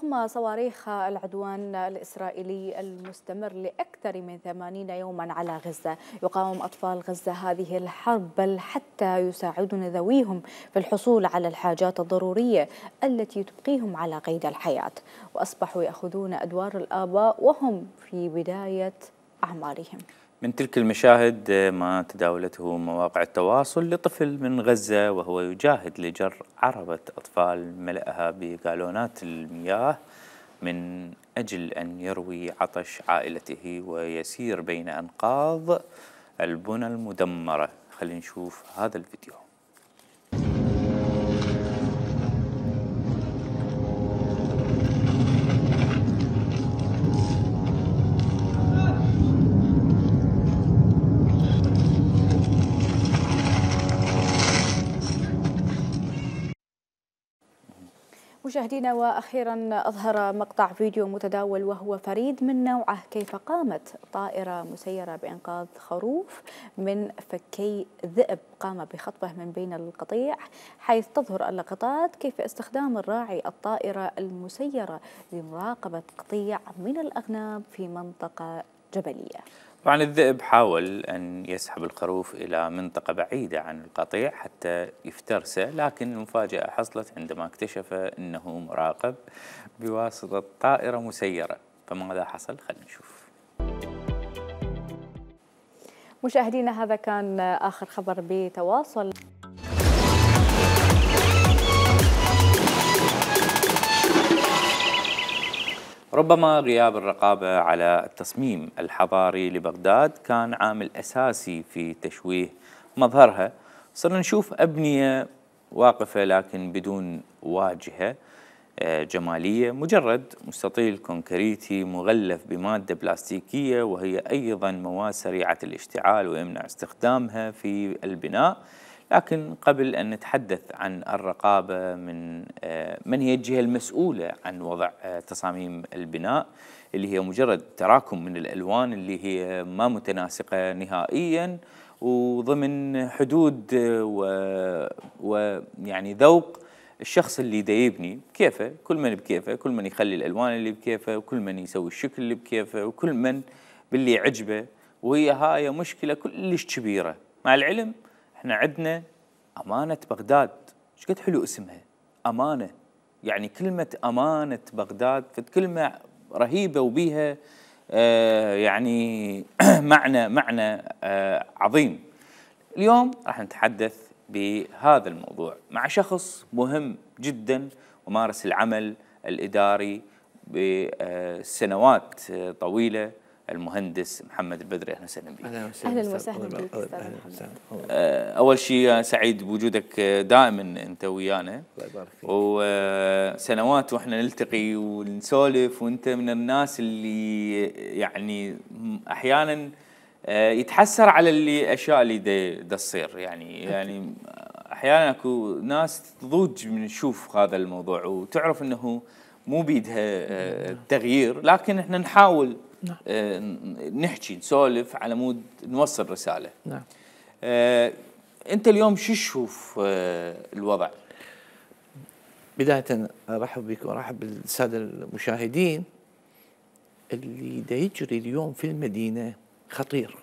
[SPEAKER 2] رغم صواريخ العدوان الإسرائيلي المستمر لأكثر من 80 يوما على غزة، يقاوم أطفال غزة هذه الحرب، بل حتى يساعدون ذويهم في الحصول على الحاجات الضرورية التي تبقيهم على قيد الحياة، وأصبحوا يأخذون أدوار الآباء وهم في بداية أعمارهم.
[SPEAKER 1] من تلك المشاهد ما تداولته مواقع التواصل لطفل من غزة وهو يجاهد لجر عربة أطفال ملأها بجالونات المياه من أجل أن يروي عطش عائلته ويسير بين أنقاض البنى المدمرة. خلينا نشوف هذا الفيديو.
[SPEAKER 2] مشاهدينا، وأخيرا أظهر مقطع فيديو متداول وهو فريد من نوعه كيف قامت طائرة مسيرة بإنقاذ خروف من فكي ذئب قام بخطفه من بين القطيع، حيث تظهر اللقطات كيف استخدام الراعي الطائرة المسيرة لمراقبة قطيع من الأغنام في منطقة جبلية.
[SPEAKER 1] طبعا الذئب حاول أن يسحب الخروف إلى منطقة بعيدة عن القطيع حتى يفترسه، لكن المفاجأة حصلت عندما اكتشف أنه مراقب بواسطة طائرة مسيرة. فماذا حصل؟ خلينا نشوف.
[SPEAKER 2] مشاهدينا، هذا كان آخر خبر بتواصل.
[SPEAKER 1] ربما غياب الرقابة على التصميم الحضاري لبغداد كان عامل أساسي في تشويه مظهرها. صرنا نشوف أبنية واقفة لكن بدون واجهة جمالية، مجرد مستطيل كونكريتي مغلف بمادة بلاستيكية، وهي أيضا مواد سريعة الاشتعال ويمنع استخدامها في البناء. لكن قبل أن نتحدث عن الرقابة من هي الجهة المسؤولة عن وضع تصاميم البناء اللي هي مجرد تراكم من الألوان اللي هي ما متناسقة نهائيا وضمن حدود ويعني ذوق الشخص اللي دا يبني كيفه، كل من بكيفه، كل من يخلي الألوان اللي بكيفه، وكل من يسوي الشكل اللي بكيفه، وكل من باللي يعجبه. وهي هاي مشكلة كلش كبيرة. مع العلم احنا عندنا أمانة بغداد، ايش قد حلو اسمها أمانة، يعني كلمة أمانة بغداد كلمة رهيبة وبيها يعني معنى عظيم. اليوم راح نتحدث بهذا الموضوع مع شخص مهم جدا ومارس العمل الإداري بسنوات طويلة، المهندس محمد البدري. اهلا وسهلا بك.
[SPEAKER 2] اهلا وسهلا بك استاذ محمد.
[SPEAKER 1] اول شيء سعيد بوجودك دائما انت ويانا،
[SPEAKER 11] الله يبارك فيك.
[SPEAKER 1] وسنوات واحنا نلتقي ونسولف، وانت من الناس اللي يعني احيانا يتحسر على الاشياء اللي تصير، يعني احيانا اكو ناس تضوج من تشوف هذا الموضوع وتعرف انه مو بيدها تغيير، لكن احنا نحاول نحكي نسولف على مود نوصل رسالة.
[SPEAKER 11] نعم.
[SPEAKER 1] أنت اليوم شو تشوف الوضع؟
[SPEAKER 11] بداية أرحب بك وأرحب بالسادة المشاهدين. اللي دا يجري اليوم في المدينة خطير.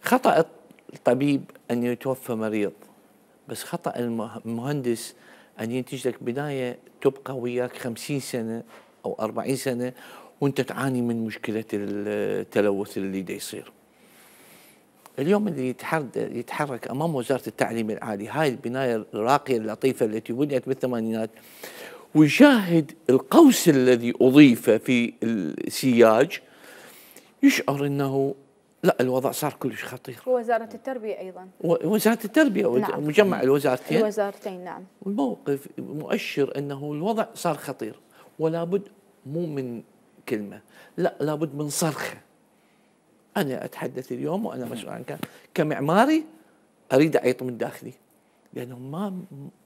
[SPEAKER 11] خطأ الطبيب أن يتوفى مريض، بس خطأ المهندس أن ينتج لك بناية تبقى وياك 50 سنة أو 40 سنة وانت تعاني من مشكلة التلوث اللي دا يصير. اليوم اللي يتحرك أمام وزارة التعليم العالي هاي البناية الراقية اللطيفة التي بنيت بالثمانينات ويشاهد القوس الذي أضيف في السياج، يشعر أنه لا، الوضع صار كلش خطير.
[SPEAKER 2] ووزارة التربية أيضا،
[SPEAKER 11] وزارة التربية
[SPEAKER 2] نعم.
[SPEAKER 11] مجمع
[SPEAKER 2] الوزارتين نعم.
[SPEAKER 11] الموقف مؤشر أنه الوضع صار خطير، ولا بد مو من كلمة، لا، لابد من صرخة. أنا أتحدث اليوم وأنا مسؤول عن كمعماري، أريد أعيط من داخلي، لأنه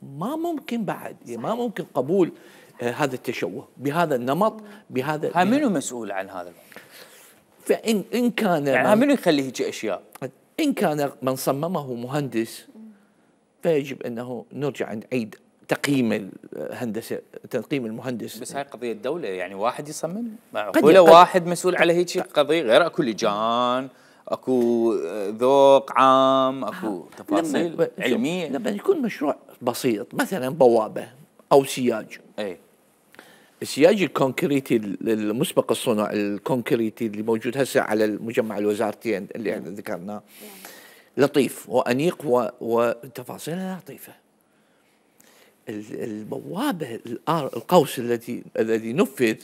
[SPEAKER 11] ما ممكن بعد، ما ممكن قبول هذا التشوه بهذا النمط بهذا.
[SPEAKER 1] منو مسؤول عن هذا؟
[SPEAKER 11] فإن كان
[SPEAKER 1] يعني منو يخلي هيك أشياء؟
[SPEAKER 11] إن كان من صممه مهندس، فيجب أنه نرجع نعيد تقييم الهندسه، تقييم المهندس.
[SPEAKER 1] بس هاي قضيه دوله، يعني واحد يصمم معقوله واحد مسؤول على هيك قضيه، غير اكو لجان، اكو ذوق عام، اكو تفاصيل علميه.
[SPEAKER 11] لما يكون مشروع بسيط مثلا بوابه او سياج،
[SPEAKER 1] اي
[SPEAKER 11] السياج الكونكريتي المسبق الصنع الكونكريتي اللي موجود هسه على المجمع الوزارتين اللي احنا ذكرناه لطيف وانيق وتفاصيلها لطيفه. البوابه القوس الذي نفذ،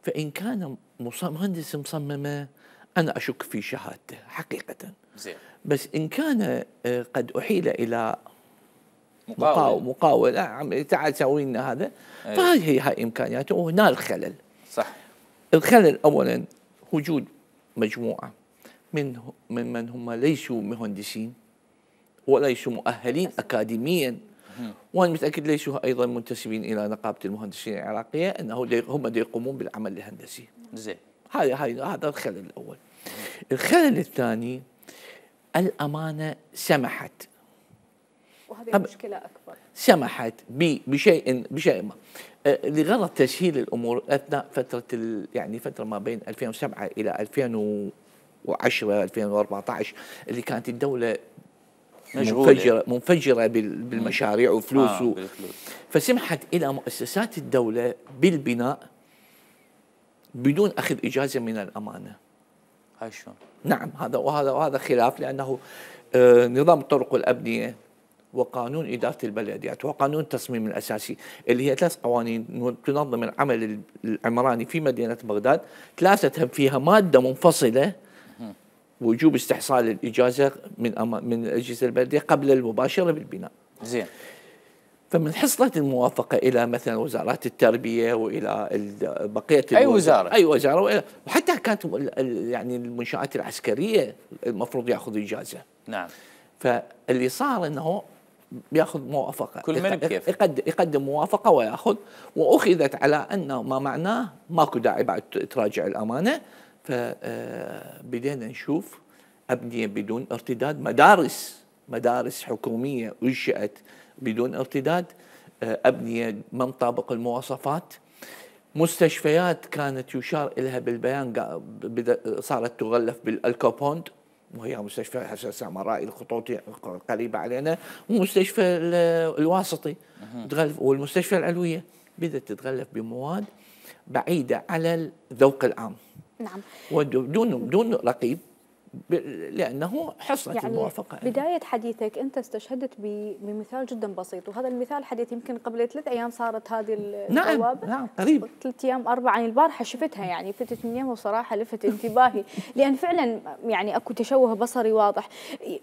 [SPEAKER 11] فان كان مهندس مصممه انا اشك في شهادته حقيقه.
[SPEAKER 1] زين.
[SPEAKER 11] بس ان كان قد احيل الى مقاول تعال سوي لنا هذا، فهذه هاي امكانياته، وهنا الخلل.
[SPEAKER 1] صح.
[SPEAKER 11] الخلل اولا وجود مجموعه من هم ليسوا مهندسين وليسوا مؤهلين اكاديميا، وانا متاكد ليسوا ايضا منتسبين الى نقابه المهندسين العراقيه، انه هم يقومون بالعمل الهندسي.
[SPEAKER 1] زين.
[SPEAKER 11] هذا الخلل الاول. الخلل الثاني الامانه سمحت،
[SPEAKER 2] وهذه مشكله اكبر،
[SPEAKER 11] سمحت بشيء ما لغرض تسهيل الامور اثناء فتره يعني فتره ما بين 2007 الى 2010 2014 اللي كانت الدوله منفجره بالمشاريع وفلوس فسمحت الى مؤسسات الدوله بالبناء بدون اخذ اجازه من الامانه.
[SPEAKER 1] هاي شلون؟
[SPEAKER 11] نعم، وهذا خلاف، لانه نظام الطرق والابنيه وقانون إدارة البلديات وقانون التصميم الأساسي اللي هي 3 قوانين تنظم العمل العمراني في مدينة بغداد، ثلاثتها فيها مادة منفصلة وجوب استحصال الإجازة من أجهزة البلدية قبل المباشرة بالبناء.
[SPEAKER 1] زين.
[SPEAKER 11] فمن حصلت الموافقة إلى مثلا وزارات التربية وإلى بقية
[SPEAKER 1] أي وزارة
[SPEAKER 11] وحتى كانت يعني المنشآت العسكرية المفروض يأخذ إجازة.
[SPEAKER 1] نعم.
[SPEAKER 11] فاللي صار انه بياخذ موافقه،
[SPEAKER 1] كل من بكيف
[SPEAKER 11] يقدم موافقه وياخذ، واخذت على انه ما معناه ماكو داعي بعد تراجع الامانه. فبدينا نشوف ابنيه بدون ارتداد، مدارس حكوميه انشئت بدون ارتداد، ابنيه ما مطابق المواصفات، مستشفيات كانت يشار اليها بالبيان صارت تغلف بالالكوبوند، وهي مستشفى حسن سامراء الخطوطي قريبه علينا، ومستشفى الواسطي والمستشفى العلويه بدات تتغلف بمواد بعيده على الذوق العام.
[SPEAKER 2] نعم.
[SPEAKER 11] ودون رقيب، لانه حصلت
[SPEAKER 2] يعني
[SPEAKER 11] الموافقه.
[SPEAKER 2] بدايه حديثك انت استشهدت بمثال جدا بسيط، وهذا المثال حديث يمكن قبل 3 أيام صارت هذه البوابه.
[SPEAKER 11] نعم قريب
[SPEAKER 2] 3 أيام 4 يعني البارحه شفتها، يعني فتت من يوم وصراحه لفت انتباهي لان فعلا يعني اكو تشوه بصري واضح.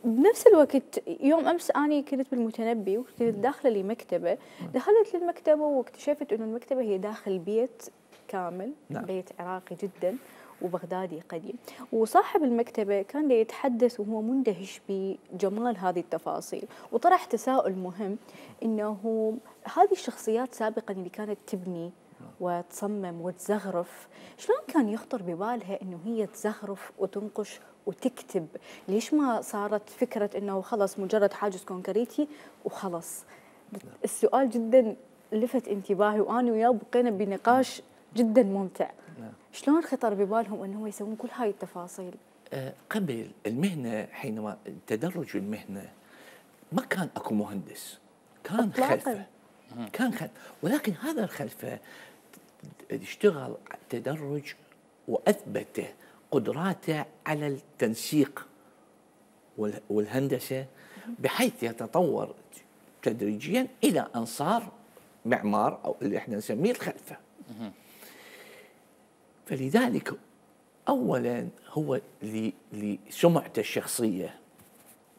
[SPEAKER 2] بنفس الوقت يوم امس اني كنت بالمتنبي وكنت داخله لمكتبه، دخلت للمكتبه واكتشفت انه المكتبه هي داخل بيت كامل. نعم. بيت عراقي جدا وبغدادي قديم، وصاحب المكتبة كان يتحدث وهو مندهش بجمال هذه التفاصيل، وطرح تساؤل مهم إنه هذه الشخصيات سابقا اللي كانت تبني وتصمم وتزخرف، شلون كان يخطر ببالها إنه هي تزخرف وتنقش وتكتب؟ ليش ما صارت فكرة إنه خلص مجرد حاجز كونكريتي وخلص؟ السؤال جدا لفت انتباهي، وأنا وياه بقينا بنقاش جدا ممتع. شلون خطر ببالهم انهم يسوون كل هاي التفاصيل؟
[SPEAKER 11] قبل المهنه، حينما تدرج المهنه ما كان اكو مهندس، كان خلفه، ولكن هذا الخلفه اشتغل تدرج واثبت قدراته على التنسيق والهندسه بحيث يتطور تدريجيا الى ان صار معمار او اللي احنا نسميه الخلفه. فلذلك اولا هو لسمعته الشخصيه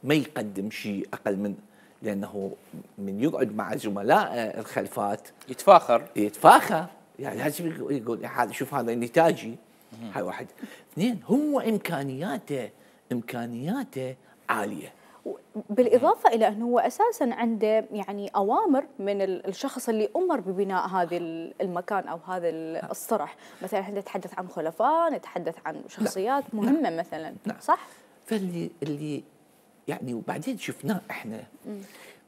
[SPEAKER 11] ما يقدم شيء اقل من، لانه من يقعد مع زملاء الخلفات
[SPEAKER 1] يتفاخر
[SPEAKER 11] يعني لازم يقول هذا شوف هذا نتاجي. هاي واحد. 2 هو امكانياته عاليه،
[SPEAKER 2] بالإضافة إلى أنه هو أساساً عنده يعني أوامر من الشخص اللي أمر ببناء هذا المكان أو هذا الصرح. مثلاً احنا نتحدث عن خلفاء، نتحدث عن شخصيات مهمة مثلاً. صح؟
[SPEAKER 11] فاللي يعني وبعدين شفناه احنا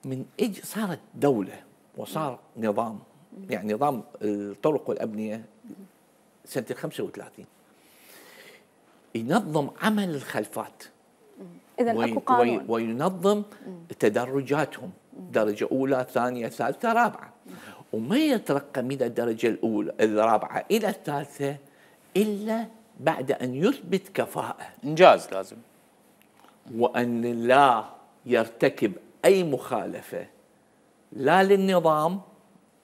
[SPEAKER 11] من صارت دولة وصار نظام، يعني نظام الطرق والأبنية سنة 35 ينظم عمل الخلفات.
[SPEAKER 2] إذا أكو قانون
[SPEAKER 11] وينظم تدرجاتهم، درجة أولى ثانية ثالثة رابعة، وما يترقى من الدرجة الأولى الرابعة إلى الثالثة إلا بعد أن يثبت كفاءة،
[SPEAKER 1] إنجاز لازم،
[SPEAKER 11] وأن لا يرتكب أي مخالفة لا للنظام،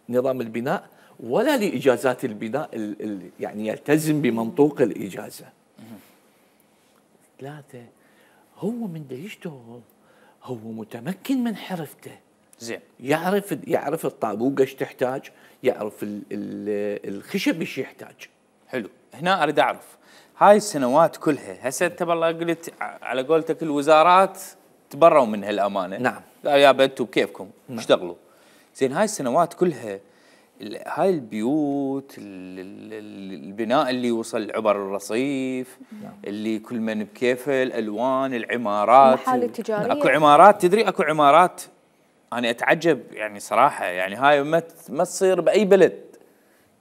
[SPEAKER 11] نظام البناء، ولا لإجازات البناء، يعني يلتزم بمنطوق الإجازة. ثلاثة، هو من دا يشتغل هو متمكن من حرفته،
[SPEAKER 1] زين،
[SPEAKER 11] يعرف الطابوقة ايش تحتاج، يعرف الخشب ايش يحتاج.
[SPEAKER 1] حلو. هنا اريد اعرف هاي السنوات كلها، هسه انت بالله قلت على قولتك الوزارات تبروا من هالامانه.
[SPEAKER 11] نعم.
[SPEAKER 1] قال يا انتم بكيفكم اشتغلوا. زين، هاي السنوات كلها هاي البيوت، البناء اللي وصل عبر الرصيف، اللي كل من بكيفه، الالوان، العمارات،
[SPEAKER 2] المحال التجاريه،
[SPEAKER 1] اكو عمارات، تدري اكو عمارات انا اتعجب يعني صراحه، يعني هاي ما تصير باي بلد،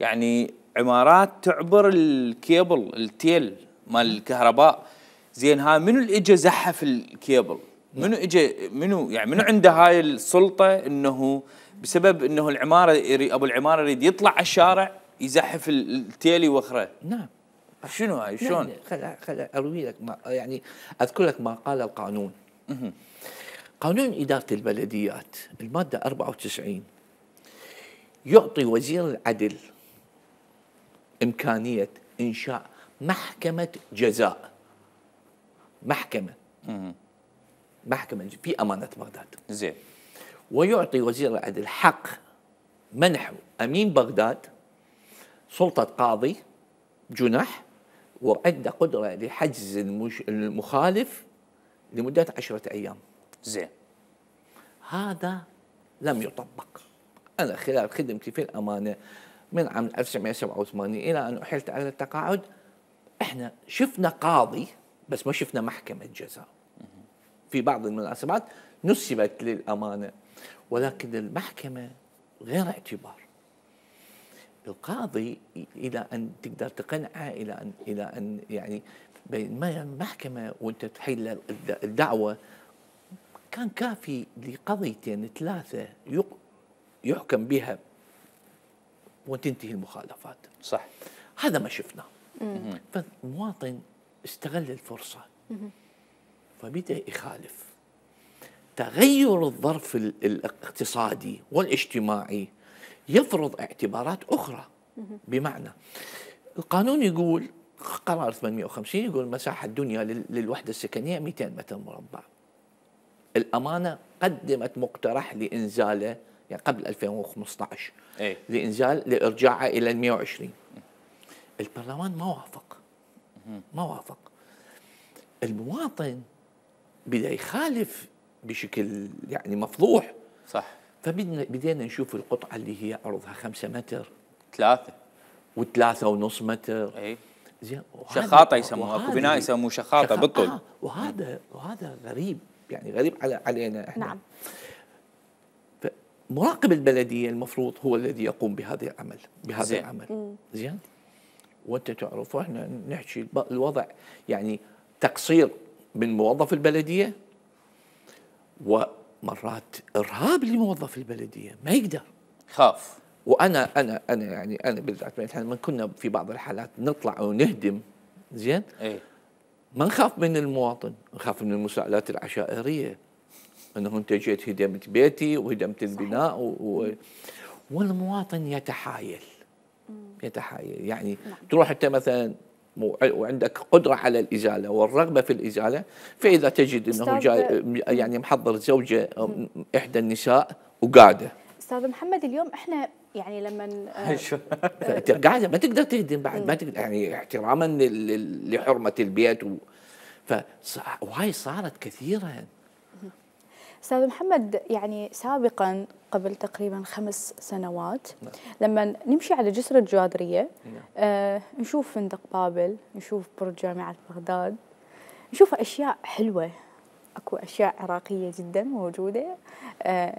[SPEAKER 1] يعني عمارات تعبر الكيبل التيل مال الكهرباء. زين، هاي منو اللي اجى زحف الكيبل؟ منو اجى، منو عنده هاي السلطه انه بسبب انه العماره ابو العماره يريد يطلع على الشارع يزحف التيل يوخره؟
[SPEAKER 11] نعم.
[SPEAKER 1] شنو هاي؟ شلون؟
[SPEAKER 11] خل اروي لك، يعني اذكر لك ما قال القانون. قانون إدارة البلديات المادة 94 يعطي وزير العدل إمكانية إنشاء محكمة جزاء، محكمة في أمانة بغداد.
[SPEAKER 1] زين.
[SPEAKER 11] ويعطي وزير العدل حق منح أمين بغداد سلطة قاضي جنح، وعنده قدرة لحجز المخالف لمدة 10 أيام.
[SPEAKER 1] زين.
[SPEAKER 11] هذا لم يطبق. أنا خلال خدمتي في الأمانة من عام 1987 إلى أن أحلت على التقاعد، إحنا شفنا قاضي بس ما شفنا محكمة جزاء. في بعض المناسبات نسبت للأمانة، ولكن المحكمة غير اعتبار. القاضي إلى أن تقدر تقنعه، إلى أن يعني بينما المحكمة وأنت تحيل الدعوة كان كافي لقضيتين 3 يحكم بها وتنتهي المخالفات.
[SPEAKER 1] صح.
[SPEAKER 11] هذا ما شفناه. فالمواطن استغل الفرصة فبدأ يخالف. تغير الظرف الاقتصادي والاجتماعي يفرض اعتبارات أخرى. بمعنى القانون يقول، قرار 850 يقول مساحة الدنيا للوحدة السكنية 200 متر مربع. الأمانة قدمت مقترح لإنزاله يعني قبل 2015 لإرجاعه إلى 120. البرلمان ما وافق. المواطن بدأ يخالف بشكل يعني مفضوح.
[SPEAKER 1] صح.
[SPEAKER 11] فبدينا نشوف القطعة اللي هي عرضها 5 متر
[SPEAKER 1] 3
[SPEAKER 11] و3.5 متر.
[SPEAKER 1] زين. شخاطة يسموها، اكو بناء يسموه شخاطة بالطول.
[SPEAKER 11] وهذا غريب، يعني غريب علينا احنا.
[SPEAKER 2] نعم.
[SPEAKER 11] مراقب البلدية المفروض هو الذي يقوم بهذا العمل. زين. وانت تعرف احنا نحكي الوضع يعني تقصير من موظف البلدية، ومرات ارهاب لموظف البلدية ما يقدر،
[SPEAKER 1] خاف.
[SPEAKER 11] وانا يعني انا بالذات لما كنا في بعض الحالات نطلع ونهدم، زين، ما نخاف من المواطن، نخاف من المساءلات العشائرية، انه انت جيت هدمت بيتي وهدمت البناء والمواطن يتحايل يعني تروح انت مثلا وعندك قدرة على الإزالة والرغبة في الإزالة، فإذا تجد أنه جاي يعني محضر زوجة إحدى النساء وقاعدة.
[SPEAKER 2] أستاذ محمد، اليوم إحنا يعني لما
[SPEAKER 11] قاعدة ما تقدر تهدم بعد، ما تقدر يعني احتراما لحرمة البيت وهاي صارت كثيرا.
[SPEAKER 2] أستاذ محمد، يعني سابقا قبل تقريبا 5 سنوات لما نمشي على جسر الجوادرية نشوف فندق بابل، نشوف برج جامعة بغداد، نشوف أشياء حلوة اكو اشياء عراقيه جدا موجوده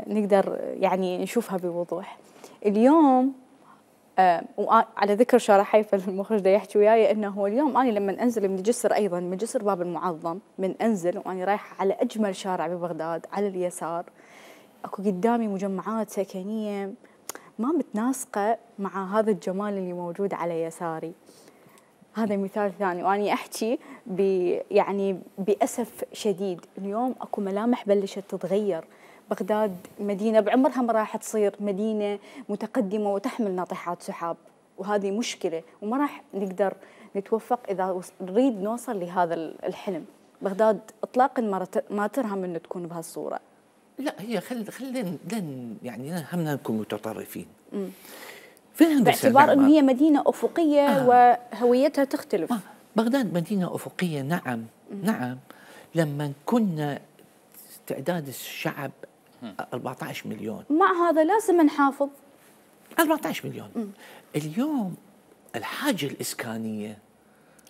[SPEAKER 2] نقدر يعني نشوفها بوضوح. اليوم وعلى ذكر شارع حيفا المخرج دا يحكي وياي انه اليوم انا لما انزل من جسر، ايضا من جسر باب المعظم، من انزل وانا رايحه على اجمل شارع ببغداد على اليسار، اكو قدامي مجمعات سكنيه ما متناسقه مع هذا الجمال اللي موجود على يساري. هذا مثال ثاني. واني احكي يعني باسف شديد اليوم اكو ملامح بلشت تتغير. بغداد مدينه بعمرها ما راح تصير مدينه متقدمه وتحمل ناطحات سحاب، وهذه مشكله وما راح نقدر نتوفق اذا نريد نوصل لهذا الحلم. بغداد اطلاقا ما ترهم انه تكون بهالصوره.
[SPEAKER 11] لا هي خلينا يعني همنا نكون متطرفين.
[SPEAKER 2] باعتبار انه هي مدينه افقيه وهويتها تختلف.
[SPEAKER 11] بغداد مدينه افقيه، نعم نعم. لما كنا تعداد الشعب 14 مليون،
[SPEAKER 2] مع هذا لازم نحافظ
[SPEAKER 11] 14 مليون. اليوم الحاجه الاسكانيه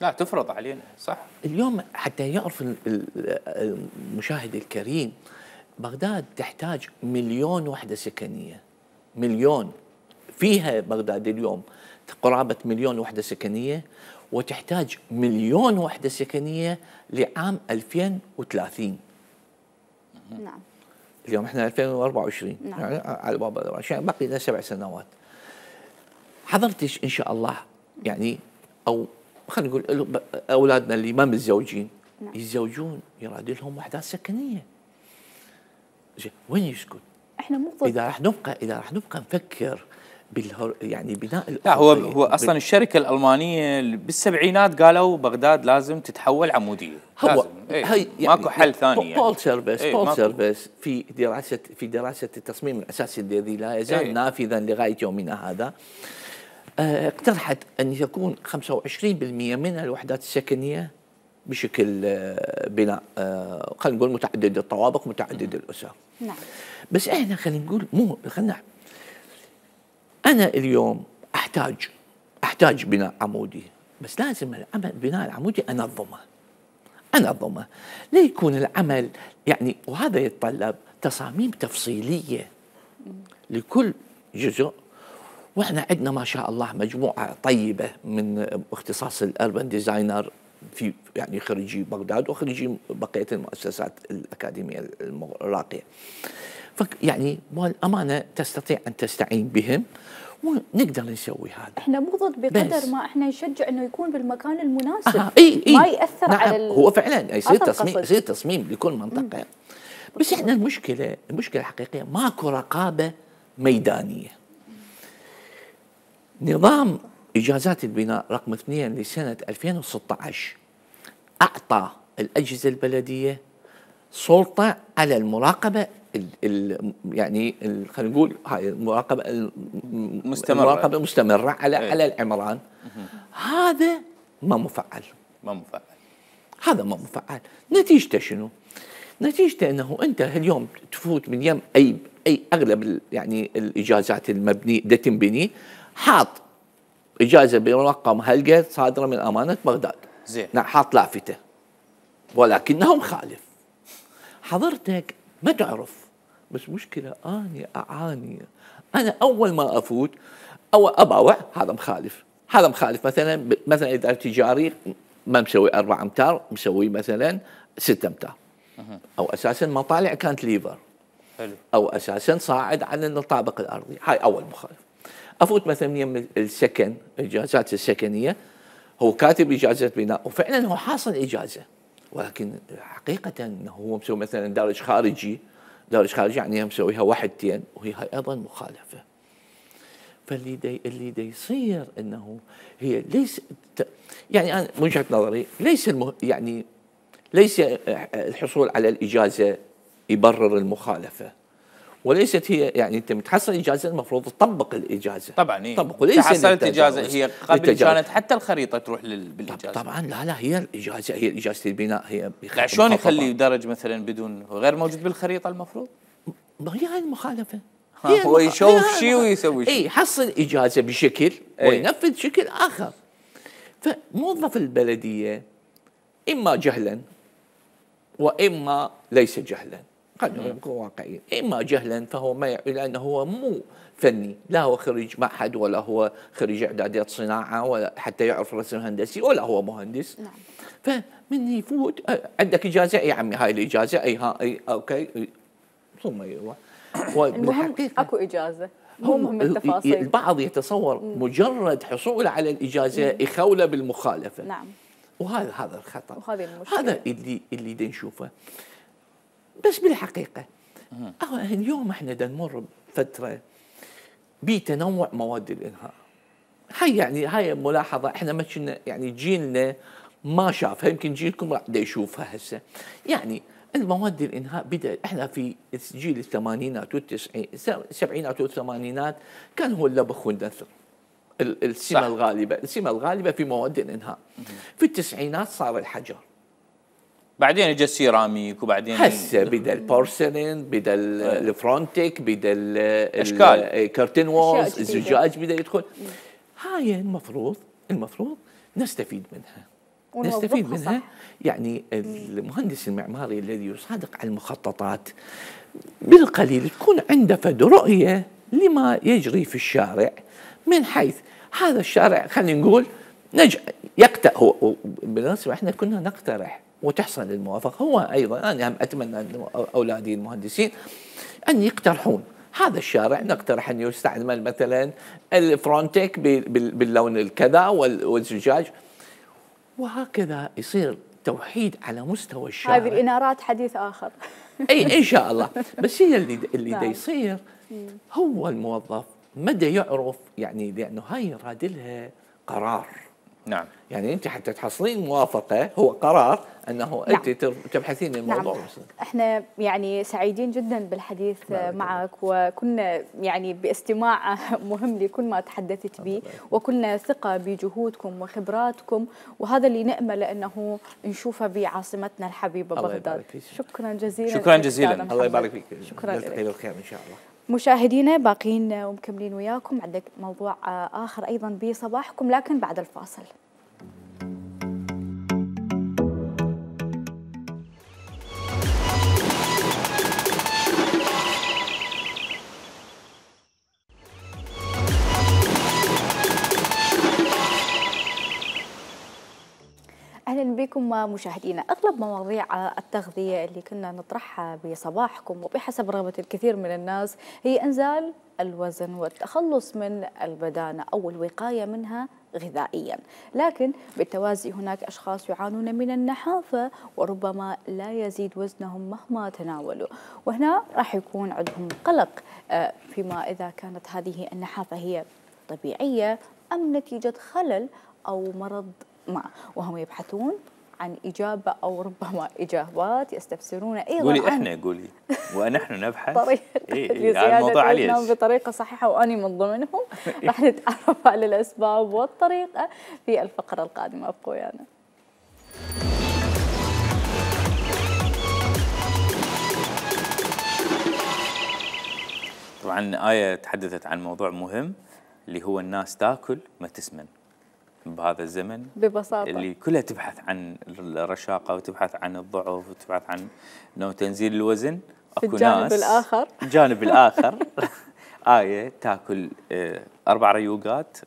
[SPEAKER 1] لا تفرض علينا، صح.
[SPEAKER 11] اليوم حتى يعرف المشاهد الكريم، بغداد تحتاج 1,000,000 وحده سكنيه. مليون فيها بغداد اليوم قرابه 1,000,000 وحده سكنيه، وتحتاج 1,000,000 وحده سكنيه لعام 2030.
[SPEAKER 2] نعم.
[SPEAKER 11] اليوم احنا 2024. نعم. يعني على باب عشان باقي لنا 7 سنوات. حضرتك ان شاء الله يعني، او خلينا نقول اولادنا اللي ما متزوجين نعم. يتزوجون يراد لهم وحدات سكنيه. وين يسكن؟
[SPEAKER 2] احنا مو
[SPEAKER 11] اذا راح نبقى نفكر يعني بناء
[SPEAKER 1] لا هو اصلا الشركه الالمانيه بالسبعينات قالوا بغداد لازم تتحول عموديه.
[SPEAKER 11] هو
[SPEAKER 1] يعني ماكو حل ثاني.
[SPEAKER 11] بول سيرفيس في دراسه التصميم الاساسي الذي لا يزال نافذا لغايه يومنا هذا، اقترحت ان يكون 25% من الوحدات السكنيه بشكل بناء خلينا نقول متعدد الطوابق متعدد الاسر.
[SPEAKER 2] نعم.
[SPEAKER 11] بس احنا خلينا نقول أنا اليوم أحتاج بناء عمودي، بس لازم البناء العمودي أنظمه ليكون العمل يعني، وهذا يتطلب تصاميم تفصيلية لكل جزء. وإحنا عندنا ما شاء الله مجموعة طيبة من اختصاص الأربن ديزاينر في يعني خريجي بغداد وخريجي بقية المؤسسات الأكاديمية الراقية. يعني والأمانة تستطيع أن تستعين بهم ونقدر نسوي هذا.
[SPEAKER 2] احنا مو ضد بقدر ما احنا نشجع انه يكون بالمكان المناسب.
[SPEAKER 11] ما
[SPEAKER 2] يأثر
[SPEAKER 11] نعم.
[SPEAKER 2] على
[SPEAKER 11] هو فعلا يصير تصميم لكل منطقة. بس احنا المشكلة الحقيقية ماكو رقابة ميدانية. نظام إجازات البناء رقم 2 لسنة 2016 أعطى الأجهزة البلدية سلطة على المراقبة يعني خلينا نقول هاي المراقبة مستمرة على العمران. هذا ما مفعل. هذا ما مفعل. نتيجته شنو؟ نتيجته انه انت اليوم تفوت من يم اي اغلب يعني الاجازات المبنيه دا تنبني حاط اجازه برقم هلقه صادره من امانه بغداد.
[SPEAKER 1] زين.
[SPEAKER 11] حاط لافته ولكنه مخالف. حضرتك ما تعرف، بس مشكله اني اعاني. انا اول ما افوت او اباوع هذا مخالف، هذا مخالف. مثلا اذا تجاري ما مسوي 4 امتار، مسوي مثلا 6 امتار، او اساسا مطالع كانت ليفر،
[SPEAKER 1] حلو،
[SPEAKER 11] او اساسا صاعد على الطابق الارضي. هاي اول مخالف. افوت مثلا يم السكن، الاجازات السكنيه، هو كاتب اجازه بناء وفعلا هو حاصل اجازه، ولكن حقيقه انه هو مسوي مثلا دارج خارجي يعني مسويها 1 2 وهي هاي ايضا مخالفه. فاللي دا يصير انه هي ليس يعني انا من وجهه نظري ليس الحصول على الاجازه يبرر المخالفه، وليست هي يعني انت متحصل اجازه المفروض تطبق الاجازه.
[SPEAKER 1] طبعا إيه؟
[SPEAKER 11] طبق وليس
[SPEAKER 1] حصلت اجازه هي قبل كانت حتى الخريطه تروح بالاجازه.
[SPEAKER 11] طبعا لا هي الاجازه، هي اجازه البناء هي
[SPEAKER 1] شلون يخلي درج مثلا بدون غير موجود بالخريطه المفروض؟
[SPEAKER 11] ما هي هاي المخالفه.
[SPEAKER 1] هو يشوف شيء ويسوي شيء.
[SPEAKER 11] اي حصل اجازه بشكل وينفذ شكل اخر. فموظف البلديه اما جهلا واما ليس جهلا، خلينا نكون واقعيين، اما جهلا فهو ما لانه هو مو فني، لا هو خريج معهد ولا هو خريج اعداديات صناعه ولا حتى يعرف رسم هندسي ولا هو مهندس. نعم. فمن يفوت عندك اجازه يا عمي، هاي الاجازه اي اوكي ثم يروح.
[SPEAKER 2] المهم اكو اجازه، مو مهم التفاصيل.
[SPEAKER 11] البعض يتصور مجرد حصوله على الاجازه يخوله بالمخالفه.
[SPEAKER 2] نعم.
[SPEAKER 11] وهذا الخطا،
[SPEAKER 2] وهذه المشكله،
[SPEAKER 11] هذا اللي دا نشوفه. بس بالحقيقه اليوم احنا دا نمر بفتره بتنوع مواد الانهاء. هاي ملاحظه احنا ما كنا يعني جيلنا ما شافها، يمكن جيلكم راح يشوفها هسه. يعني المواد الانهاء بدا احنا في جيل الثمانينات السبعينات والثمانينات كان هو اللبخ والنثر السمه الغالبه في مواد الانهاء. في التسعينات صار الحجر،
[SPEAKER 1] بعدين اجى السيراميك، وبعدين
[SPEAKER 11] هسه بدا البورسلين، بدا الفرونتيك، بدا
[SPEAKER 1] اشكال
[SPEAKER 11] الكرتين وولز، الزجاج بدا يدخل. هاي المفروض نستفيد منها. يعني المهندس المعماري الذي يصادق على المخططات بالقليل تكون عنده فد رؤية لما يجري في الشارع، من حيث هذا الشارع خلينا نقول يقترح. بالمناسبة احنا كنا نقترح وتحصل الموافقة. هو أيضا أنا هم أتمنى أن أولادي المهندسين أن يقترحون هذا الشارع، نقترح أن يستعمل مثلا الفرونتيك باللون الكذا والزجاج، وهكذا يصير توحيد على مستوى الشارع.
[SPEAKER 2] هذه الإنارات حديث آخر.
[SPEAKER 11] أي إن شاء الله. بس هي اللي دا يصير هو الموظف مدى يعرف، يعني لأنه هاي رادلها قرار.
[SPEAKER 1] نعم.
[SPEAKER 11] يعني أنت حتى تحصلين موافقة هو قرار أنه أنت تبحثين الموضوع.
[SPEAKER 2] نعم. احنا يعني سعيدين جدا بالحديث معك، وكنا يعني باستماع مهم لكل ما تحدثت به، وكلنا ثقة بجهودكم وخبراتكم، وهذا اللي نأمل أنه نشوفه بعاصمتنا الحبيبة بغداد.
[SPEAKER 1] شكرا
[SPEAKER 11] جزيلا. الله يبارك فيك.
[SPEAKER 2] شكرا لك.
[SPEAKER 11] الخير إن شاء الله.
[SPEAKER 2] مشاهدينا باقين ومكملين وياكم، عندك موضوع آخر أيضا بصباحكم لكن بعد الفاصل. أهلا بكم مشاهدينا. أغلب مواضيع التغذية اللي كنا نطرحها بصباحكم وبحسب رغبة الكثير من الناس هي إنزال الوزن والتخلص من البدانة أو الوقاية منها غذائيا، لكن بالتوازي هناك أشخاص يعانون من النحافة وربما لا يزيد وزنهم مهما تناولوا، وهنا راح يكون عندهم قلق فيما إذا كانت هذه النحافة هي طبيعية أم نتيجة خلل أو مرض ما، وهم يبحثون عن إجابة أو ربما إجابات يستفسرون أيضا
[SPEAKER 1] قولي ونحن نبحث
[SPEAKER 2] طريقة لزيادة وزنهم بطريقة صحيحة، وأني من ضمنهم. راح نتعرف على الأسباب والطريقة في الفقرة القادمة. ابقوا ويانا.
[SPEAKER 1] طبعا آية تحدثت عن موضوع مهم اللي هو الناس تاكل ما تسمن بهذا الزمن
[SPEAKER 2] ببساطة،
[SPEAKER 1] اللي كلها تبحث عن الرشاقة وتبحث عن الضعف وتبحث عن انه تنزيل الوزن.
[SPEAKER 2] اكو الجانب الآخر
[SPEAKER 1] الجانب الآخر آية تاكل 4 ريوقات،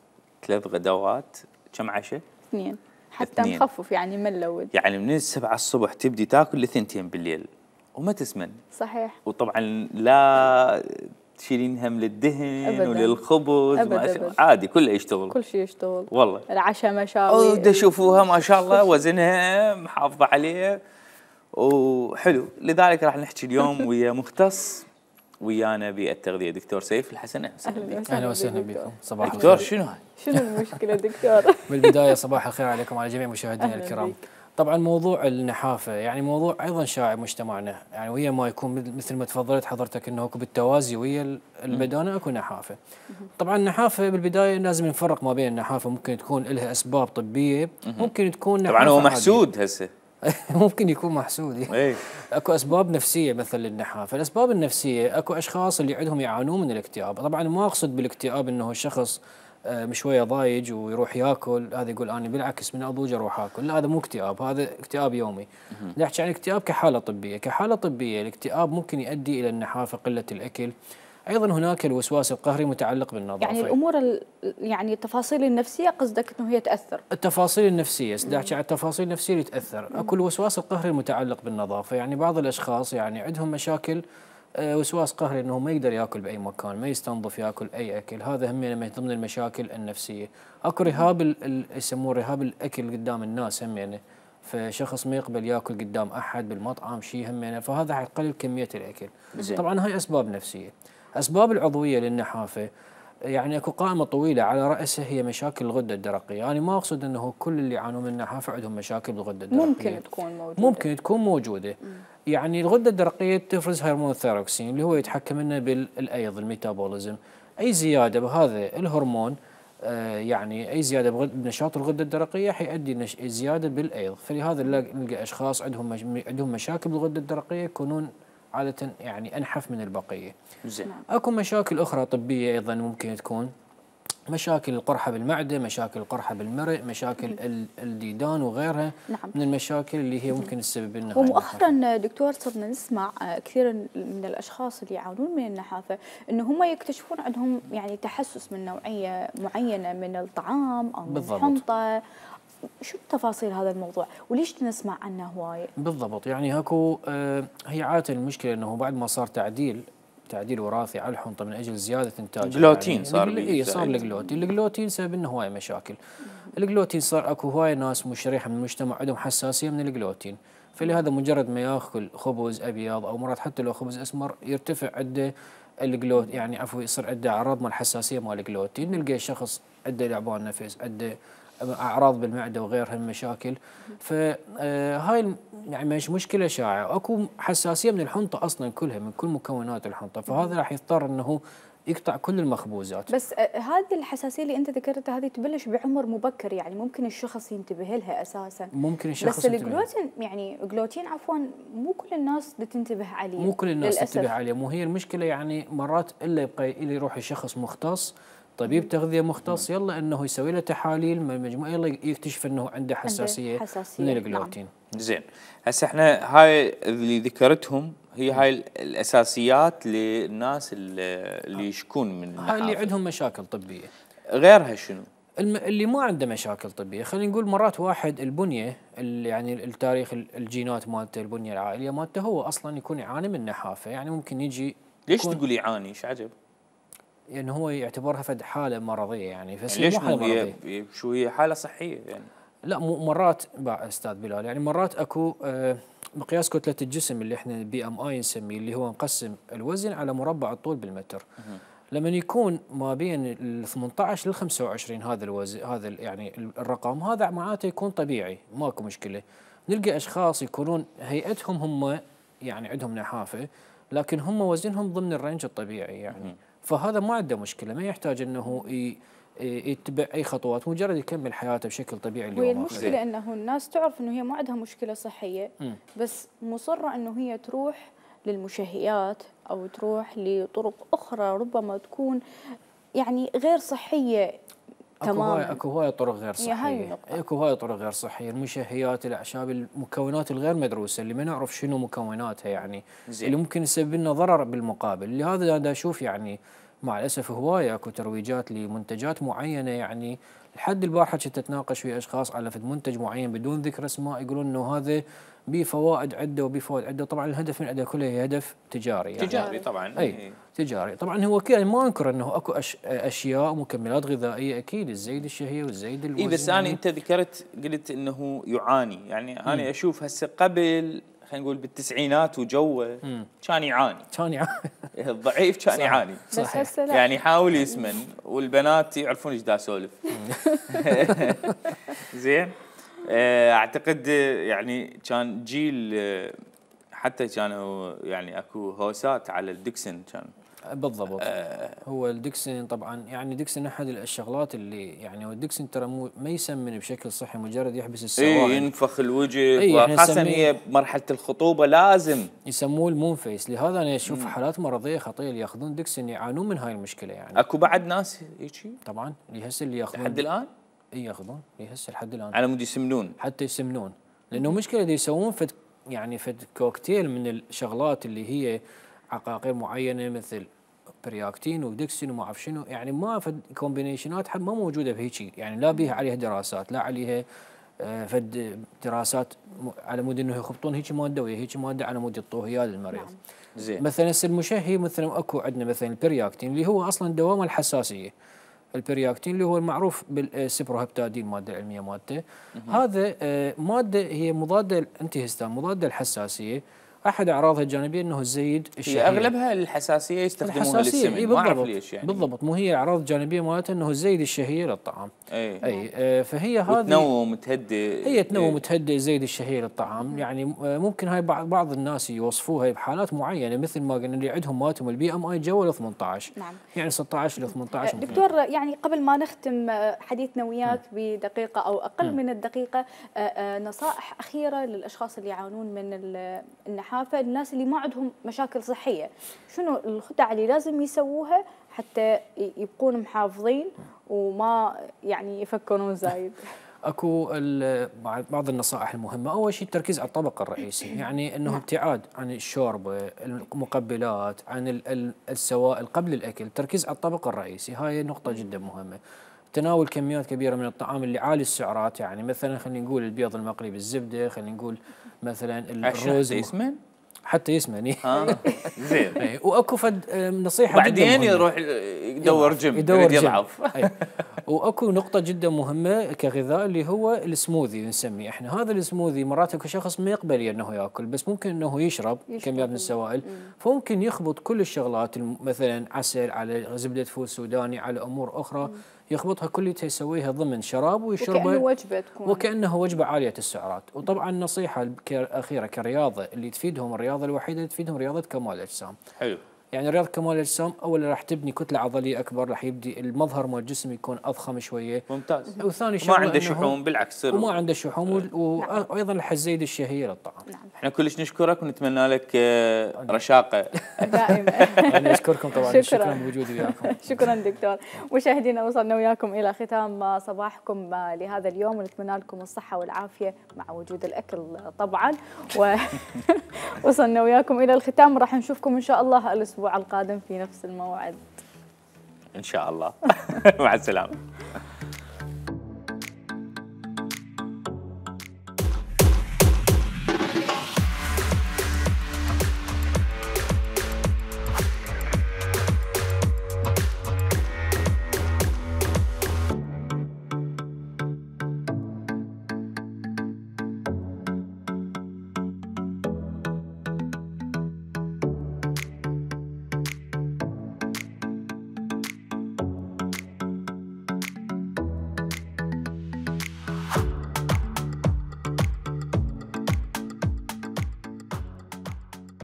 [SPEAKER 1] 3 غدوات، كم عشاء؟
[SPEAKER 2] 2 حتى نخفف يعني ما نلود.
[SPEAKER 1] يعني من 7 الصبح تبدي تاكل ل2 بالليل وما تسمن.
[SPEAKER 2] صحيح.
[SPEAKER 1] وطبعا لا تشيلين هم للدهن أبداً. وللخبز أبداً. عادي كله يشتغل،
[SPEAKER 2] كل شيء يشتغل
[SPEAKER 1] والله.
[SPEAKER 2] العشاء مشاوي
[SPEAKER 1] تشوفوها ما شاء الله وزنها محافظة عليه وحلو. لذلك راح نحكي اليوم ويا مختص ويانا بالتغذية، دكتور سيف الحسن.
[SPEAKER 12] أهلا وسهلا بكم.
[SPEAKER 1] صباح الخير. دكتور
[SPEAKER 2] شنو المشكلة دكتور؟
[SPEAKER 12] بالبداية صباح الخير عليكم وعلى جميع مشاهدينا الكرام. طبعا موضوع النحافة يعني موضوع أيضا شائع مجتمعنا، يعني ويا ما يكون مثل ما تفضلت حضرتك أنه بالتوازي ويا البدانة أكو نحافة. طبعا النحافة بالبداية لازم نفرق ما بين النحافة، ممكن تكون لها أسباب طبية، ممكن تكون
[SPEAKER 1] طبعا هو محسود هسه
[SPEAKER 12] ممكن يكون محسود. اكو اسباب نفسيه مثل للنحافه. الاسباب النفسيه اكو اشخاص اللي عندهم يعانون من الاكتئاب. طبعا ما اقصد بالاكتئاب انه الشخص شويه ضايج ويروح ياكل، هذا يقول انا بالعكس من اضوج اروح اكل، لا هذا مو اكتئاب، هذا اكتئاب يومي. نحكي عن الاكتئاب كحاله طبيه، كحاله طبيه الاكتئاب ممكن يؤدي الى النحافه، قله الاكل. ايضا هناك الوسواس القهري متعلق بالنظافه.
[SPEAKER 2] يعني الامور يعني التفاصيل النفسيه قصدك انه هي تاثر؟
[SPEAKER 12] التفاصيل النفسيه، على التفاصيل النفسيه اللي تاثر. اكو الوسواس القهري المتعلق بالنظافه، يعني بعض الاشخاص يعني عندهم مشاكل وسواس قهري انه ما يقدر ياكل باي مكان، ما يستنظف ياكل اي اكل، هذا هم من ضمن المشاكل النفسيه. اكو رهاب يسموه رهاب الاكل قدام الناس هم يعني، فشخص ما يقبل ياكل قدام احد بالمطعم شيء هم يعني، فهذا حيقلل كميه الاكل. طبعا هاي اسباب نفسيه. اسباب العضويه للنحافه يعني اكو قائمه طويله على راسها هي مشاكل الغده الدرقيه، يعني ما اقصد انه كل اللي يعانون من النحافه عندهم مشاكل بالغده الدرقيه، ممكن تكون موجوده. يعني الغده الدرقيه تفرز هرمون الثيروكسين اللي هو يتحكم لنا بالايض الميتابوليزم. اي زياده بهذا الهرمون يعني اي زياده بنشاط الغده الدرقيه حيؤدي زياده بالايض، فلهذا نلقى اشخاص عندهم مشاكل بالغده الدرقيه يكونون عاده يعني انحف من البقيه.
[SPEAKER 1] زين.
[SPEAKER 12] اكو مشاكل اخرى طبيه ايضا ممكن تكون، مشاكل القرحه بالمعده، مشاكل القرحه بالمرء، مشاكل الديدان وغيرها. من المشاكل اللي هي ممكن تسبب لنا.
[SPEAKER 2] ومؤخرا دكتور صرنا نسمع كثير من الاشخاص اللي يعانون من النحافه انه هم يكتشفون عندهم يعني تحسس من نوعيه معينه من الطعام او من الحنطه. شو تفاصيل هذا الموضوع وليش نسمع عنه هوايه؟
[SPEAKER 12] بالضبط، يعني اكو هي عاده المشكله انه بعد ما صار تعديل وراثي على الحنطه من اجل زياده انتاج
[SPEAKER 1] الجلوتين
[SPEAKER 12] يعني صار الجلوتين سبب انه هوايه مشاكل. الجلوتين صار اكو هوايه ناس شريحه من المجتمع عندهم حساسيه من الجلوتين، فلهذا مجرد ما ياكل خبز ابيض او مرات حتى لو خبز اسمر يرتفع عنده يعني عفوا يصير عنده اعراض مال حساسيه مال الجلوتين. نلقى الشخص عنده لعبان نفس، عنده اعراض بالمعده وغيرها من مشاكل. فهاي يعني مش مشكله شائعه، اكو حساسيه من الحنطه اصلا كلها من كل مكونات الحنطه، فهذا راح يضطر انه يقطع كل المخبوزات.
[SPEAKER 2] بس هذه الحساسيه اللي انت ذكرتها هذه تبلش بعمر مبكر، يعني ممكن الشخص ينتبه لها اساسا.
[SPEAKER 12] ممكن الشخص
[SPEAKER 2] بس الجلوتين يعني الجلوتين عفوا مو كل الناس تنتبه عليه،
[SPEAKER 12] مو كل الناس تنتبه عليه، مو هي المشكله يعني مرات الا يبقى يروح الشخص مختص طبيب تغذيه مختص يلا انه يسوي له تحاليل من المجموعه يلا يكتشف انه عنده حساسيه من الجلوتين.
[SPEAKER 1] زين، هسه احنا هاي اللي ذكرتهم هي هاي الاساسيات للناس اللي يشكون من النحافه،
[SPEAKER 12] هاي اللي عندهم مشاكل طبيه.
[SPEAKER 1] غيرها شنو؟
[SPEAKER 12] اللي ما عنده مشاكل طبيه، خلينا نقول مرات واحد البنيه يعني التاريخ الجينات مالته البنيه العائليه مالته هو اصلا يكون يعاني من نحافه، يعني ممكن يجي.
[SPEAKER 1] ليش تقول يعاني؟ ايش عجب؟
[SPEAKER 12] يعني هو يعتبرها فد حاله مرضيه يعني،
[SPEAKER 1] بس يعني ليش مو مرضيه؟ شو هي حاله صحيه يعني؟
[SPEAKER 12] لا مرات استاذ بلال يعني مرات اكو مقياس كتله الجسم اللي احنا BMI نسميه، اللي هو نقسم الوزن على مربع الطول بالمتر. لما يكون ما بين ال 18 لل 25 هذا الوزن، هذا يعني الرقم هذا معناته يكون طبيعي ماكو مشكله. نلقى اشخاص يكونون هيئتهم هم يعني عندهم نحافه لكن هم وزنهم ضمن الرينج الطبيعي يعني. فهذا ما عنده مشكله، ما يحتاج انه يتبع اي خطوات، مجرد يكمل حياته بشكل طبيعي اليوم.
[SPEAKER 2] وهي المشكله انه الناس تعرف انه هي ما عندها مشكله صحيه بس مصره انه هي تروح للمشهيات او تروح لطرق اخرى ربما تكون يعني غير صحيه تماما.
[SPEAKER 12] اكو هواي طرق غير صحيه، اكو هواي طرق غير صحيه، المشهيات، الاعشاب، المكونات الغير مدروسه اللي ما نعرف شنو مكوناتها يعني اللي ممكن تسبب لنا ضرر بالمقابل. لهذا انا اشوف يعني مع الاسف هوايه اكو ترويجات لمنتجات معينه، يعني لحد البارحه كنت اتناقش ويا اشخاص على منتج معين بدون ذكر اسماء، يقولون انه هذا به فوائد عده وبه فوائد عده، طبعا الهدف من عنده كله هدف تجاري يعني.
[SPEAKER 1] تجاري طبعا.
[SPEAKER 12] اي تجاري طبعا. هو كذا ما انكر انه اكو اشياء ومكملات غذائيه اكيد تزيد الشهيه وتزيد الوزن.
[SPEAKER 1] اي بس انا انت قلت انه يعاني، يعني انا اشوف هسه قبل خلينا نقول بالتسعينات وجوه كان يعاني الضعيف كان يعاني
[SPEAKER 2] صحيح.
[SPEAKER 1] يعني يحاول يسمن والبنات يعرفون ايش دا اسولف. زين، اعتقد يعني كان جيل حتى كانوا يعني اكو هوسات على الدكسن كان
[SPEAKER 12] بالضبط. هو الدكسين طبعا يعني دكسين احد الشغلات اللي يعني هو الدكسين ترى ما يسمن بشكل صحي، مجرد يحبس السوائل.
[SPEAKER 1] ينفخ الوجه، وخاصه هي بمرحله الخطوبه لازم
[SPEAKER 12] يسموه المون فيس. لهذا انا اشوف حالات مرضيه خطيره اللي ياخذون دكسين يعانون من هاي المشكله. يعني
[SPEAKER 1] اكو بعد ناس هيك
[SPEAKER 12] طبعا هسه اللي ياخذون
[SPEAKER 1] لحد الان
[SPEAKER 12] ياخذون هسه لحد الان
[SPEAKER 1] على مود يسمنون،
[SPEAKER 12] حتى يسمنون، لانه مشكله يسوون يعني كوكتيل من الشغلات اللي هي عقاقير معينه مثل برياكتين ودكسين وما اعرف شنو، يعني ما فد كومبينيشنات ما موجوده بهيجي، يعني لا بيها عليها دراسات، لا عليها فد دراسات على مود انه يخبطون هيك ماده ويا هيك ماده على مود يعطوه اياه للمريض.
[SPEAKER 1] زين.
[SPEAKER 12] مثلا المشهي مثلا اكو عندنا مثلا البرياكتين اللي هو اصلا دوام الحساسيه. البرياكتين اللي هو المعروف بالسبروهبتادين، الماده العلميه مالته. هذا ماده هي مضاده انتي هستان، مضاده الحساسيه. احد اعراضها الجانبيه انه تزيد الشهيه.
[SPEAKER 1] هي اغلبها الحساسيه يستخدمونها للسمن، ما اعرف ليش يعني.
[SPEAKER 12] بالضبط، مو هي اعراض جانبيه مالتها انه تزيد الشهيه للطعام. اي فهي هذه
[SPEAKER 1] تنوم تهدئ،
[SPEAKER 12] هي تنوم تهدئ تزيد الشهيه للطعام. يعني ممكن هاي بعض الناس يوصفوها بحالات معينه، مثل ما قلنا اللي عندهم مالتهم البي ام اي جو ال 18.
[SPEAKER 2] نعم.
[SPEAKER 12] يعني 16 ل 18.
[SPEAKER 2] دكتور يعني قبل ما نختم حديثنا وياك بدقيقه او اقل من الدقيقه، نصائح اخيره للاشخاص اللي يعانون من النحافه، الناس اللي ما عندهم مشاكل صحيه، شنو الخدع اللي لازم يسووها حتى يبقون محافظين وما يعني يفكرون زايد؟
[SPEAKER 12] اكو بعض النصائح المهمه. اول شيء التركيز على الطبق الرئيسي، يعني انه ابتعاد عن الشوربه، المقبلات، عن السوائل قبل الاكل، التركيز على الطبق الرئيسي، هاي نقطه جدا مهمه. تناول كميات كبيره من الطعام اللي عالي السعرات، يعني مثلا خلينا نقول البيض المقلي بالزبده، خلينا نقول مثلا الرز
[SPEAKER 1] يسمن
[SPEAKER 12] حتى يسمن.
[SPEAKER 1] زين.
[SPEAKER 12] واكو فد نصيحه
[SPEAKER 1] بعدين يروح يدور جيم يضعف.
[SPEAKER 12] واكو نقطه جدا مهمه كغذاء اللي هو السموذي نسميه احنا. هذا السموذي مرات اكو شخص ما يقبل انه ياكل، بس ممكن انه يشرب كميات من السوائل، فممكن يخبط كل الشغلات، مثلا عسل على زبده فول سوداني على امور اخرى، يخبطها كلها يسويها ضمن شراب ويشربها
[SPEAKER 2] وكأنه وجبه تكون،
[SPEAKER 12] وكأنه وجبه عاليه السعرات. وطبعا النصيحه الاخيره كرياضه اللي تفيدهم، الرياضه الوحيده اللي تفيدهم رياضه كمال الاجسام.
[SPEAKER 1] حلو.
[SPEAKER 12] يعني رياضه كمال الاجسام اولا راح تبني كتله عضليه اكبر، راح يبدي المظهر مال الجسم يكون اضخم شويه.
[SPEAKER 1] ممتاز.
[SPEAKER 12] وثاني
[SPEAKER 1] ما عنده شحوم، بالعكس
[SPEAKER 12] وما عنده شحوم، وايضا راح تزيد الشهيه للطعام.
[SPEAKER 1] احنا كلش نشكرك ونتمنى لك رشاقه
[SPEAKER 2] دائما.
[SPEAKER 12] انا اشكركم طبعا، شكرا بوجودي وياكم.
[SPEAKER 2] شكرا دكتور. مشاهدينا وصلنا وياكم الى ختام صباحكم لهذا اليوم، ونتمنى لكم الصحه والعافيه مع وجود الاكل طبعا. وصلنا وياكم الى الختام، راح نشوفكم ان شاء الله الاسبوع القادم في نفس الموعد
[SPEAKER 1] ان شاء الله. مع السلامه.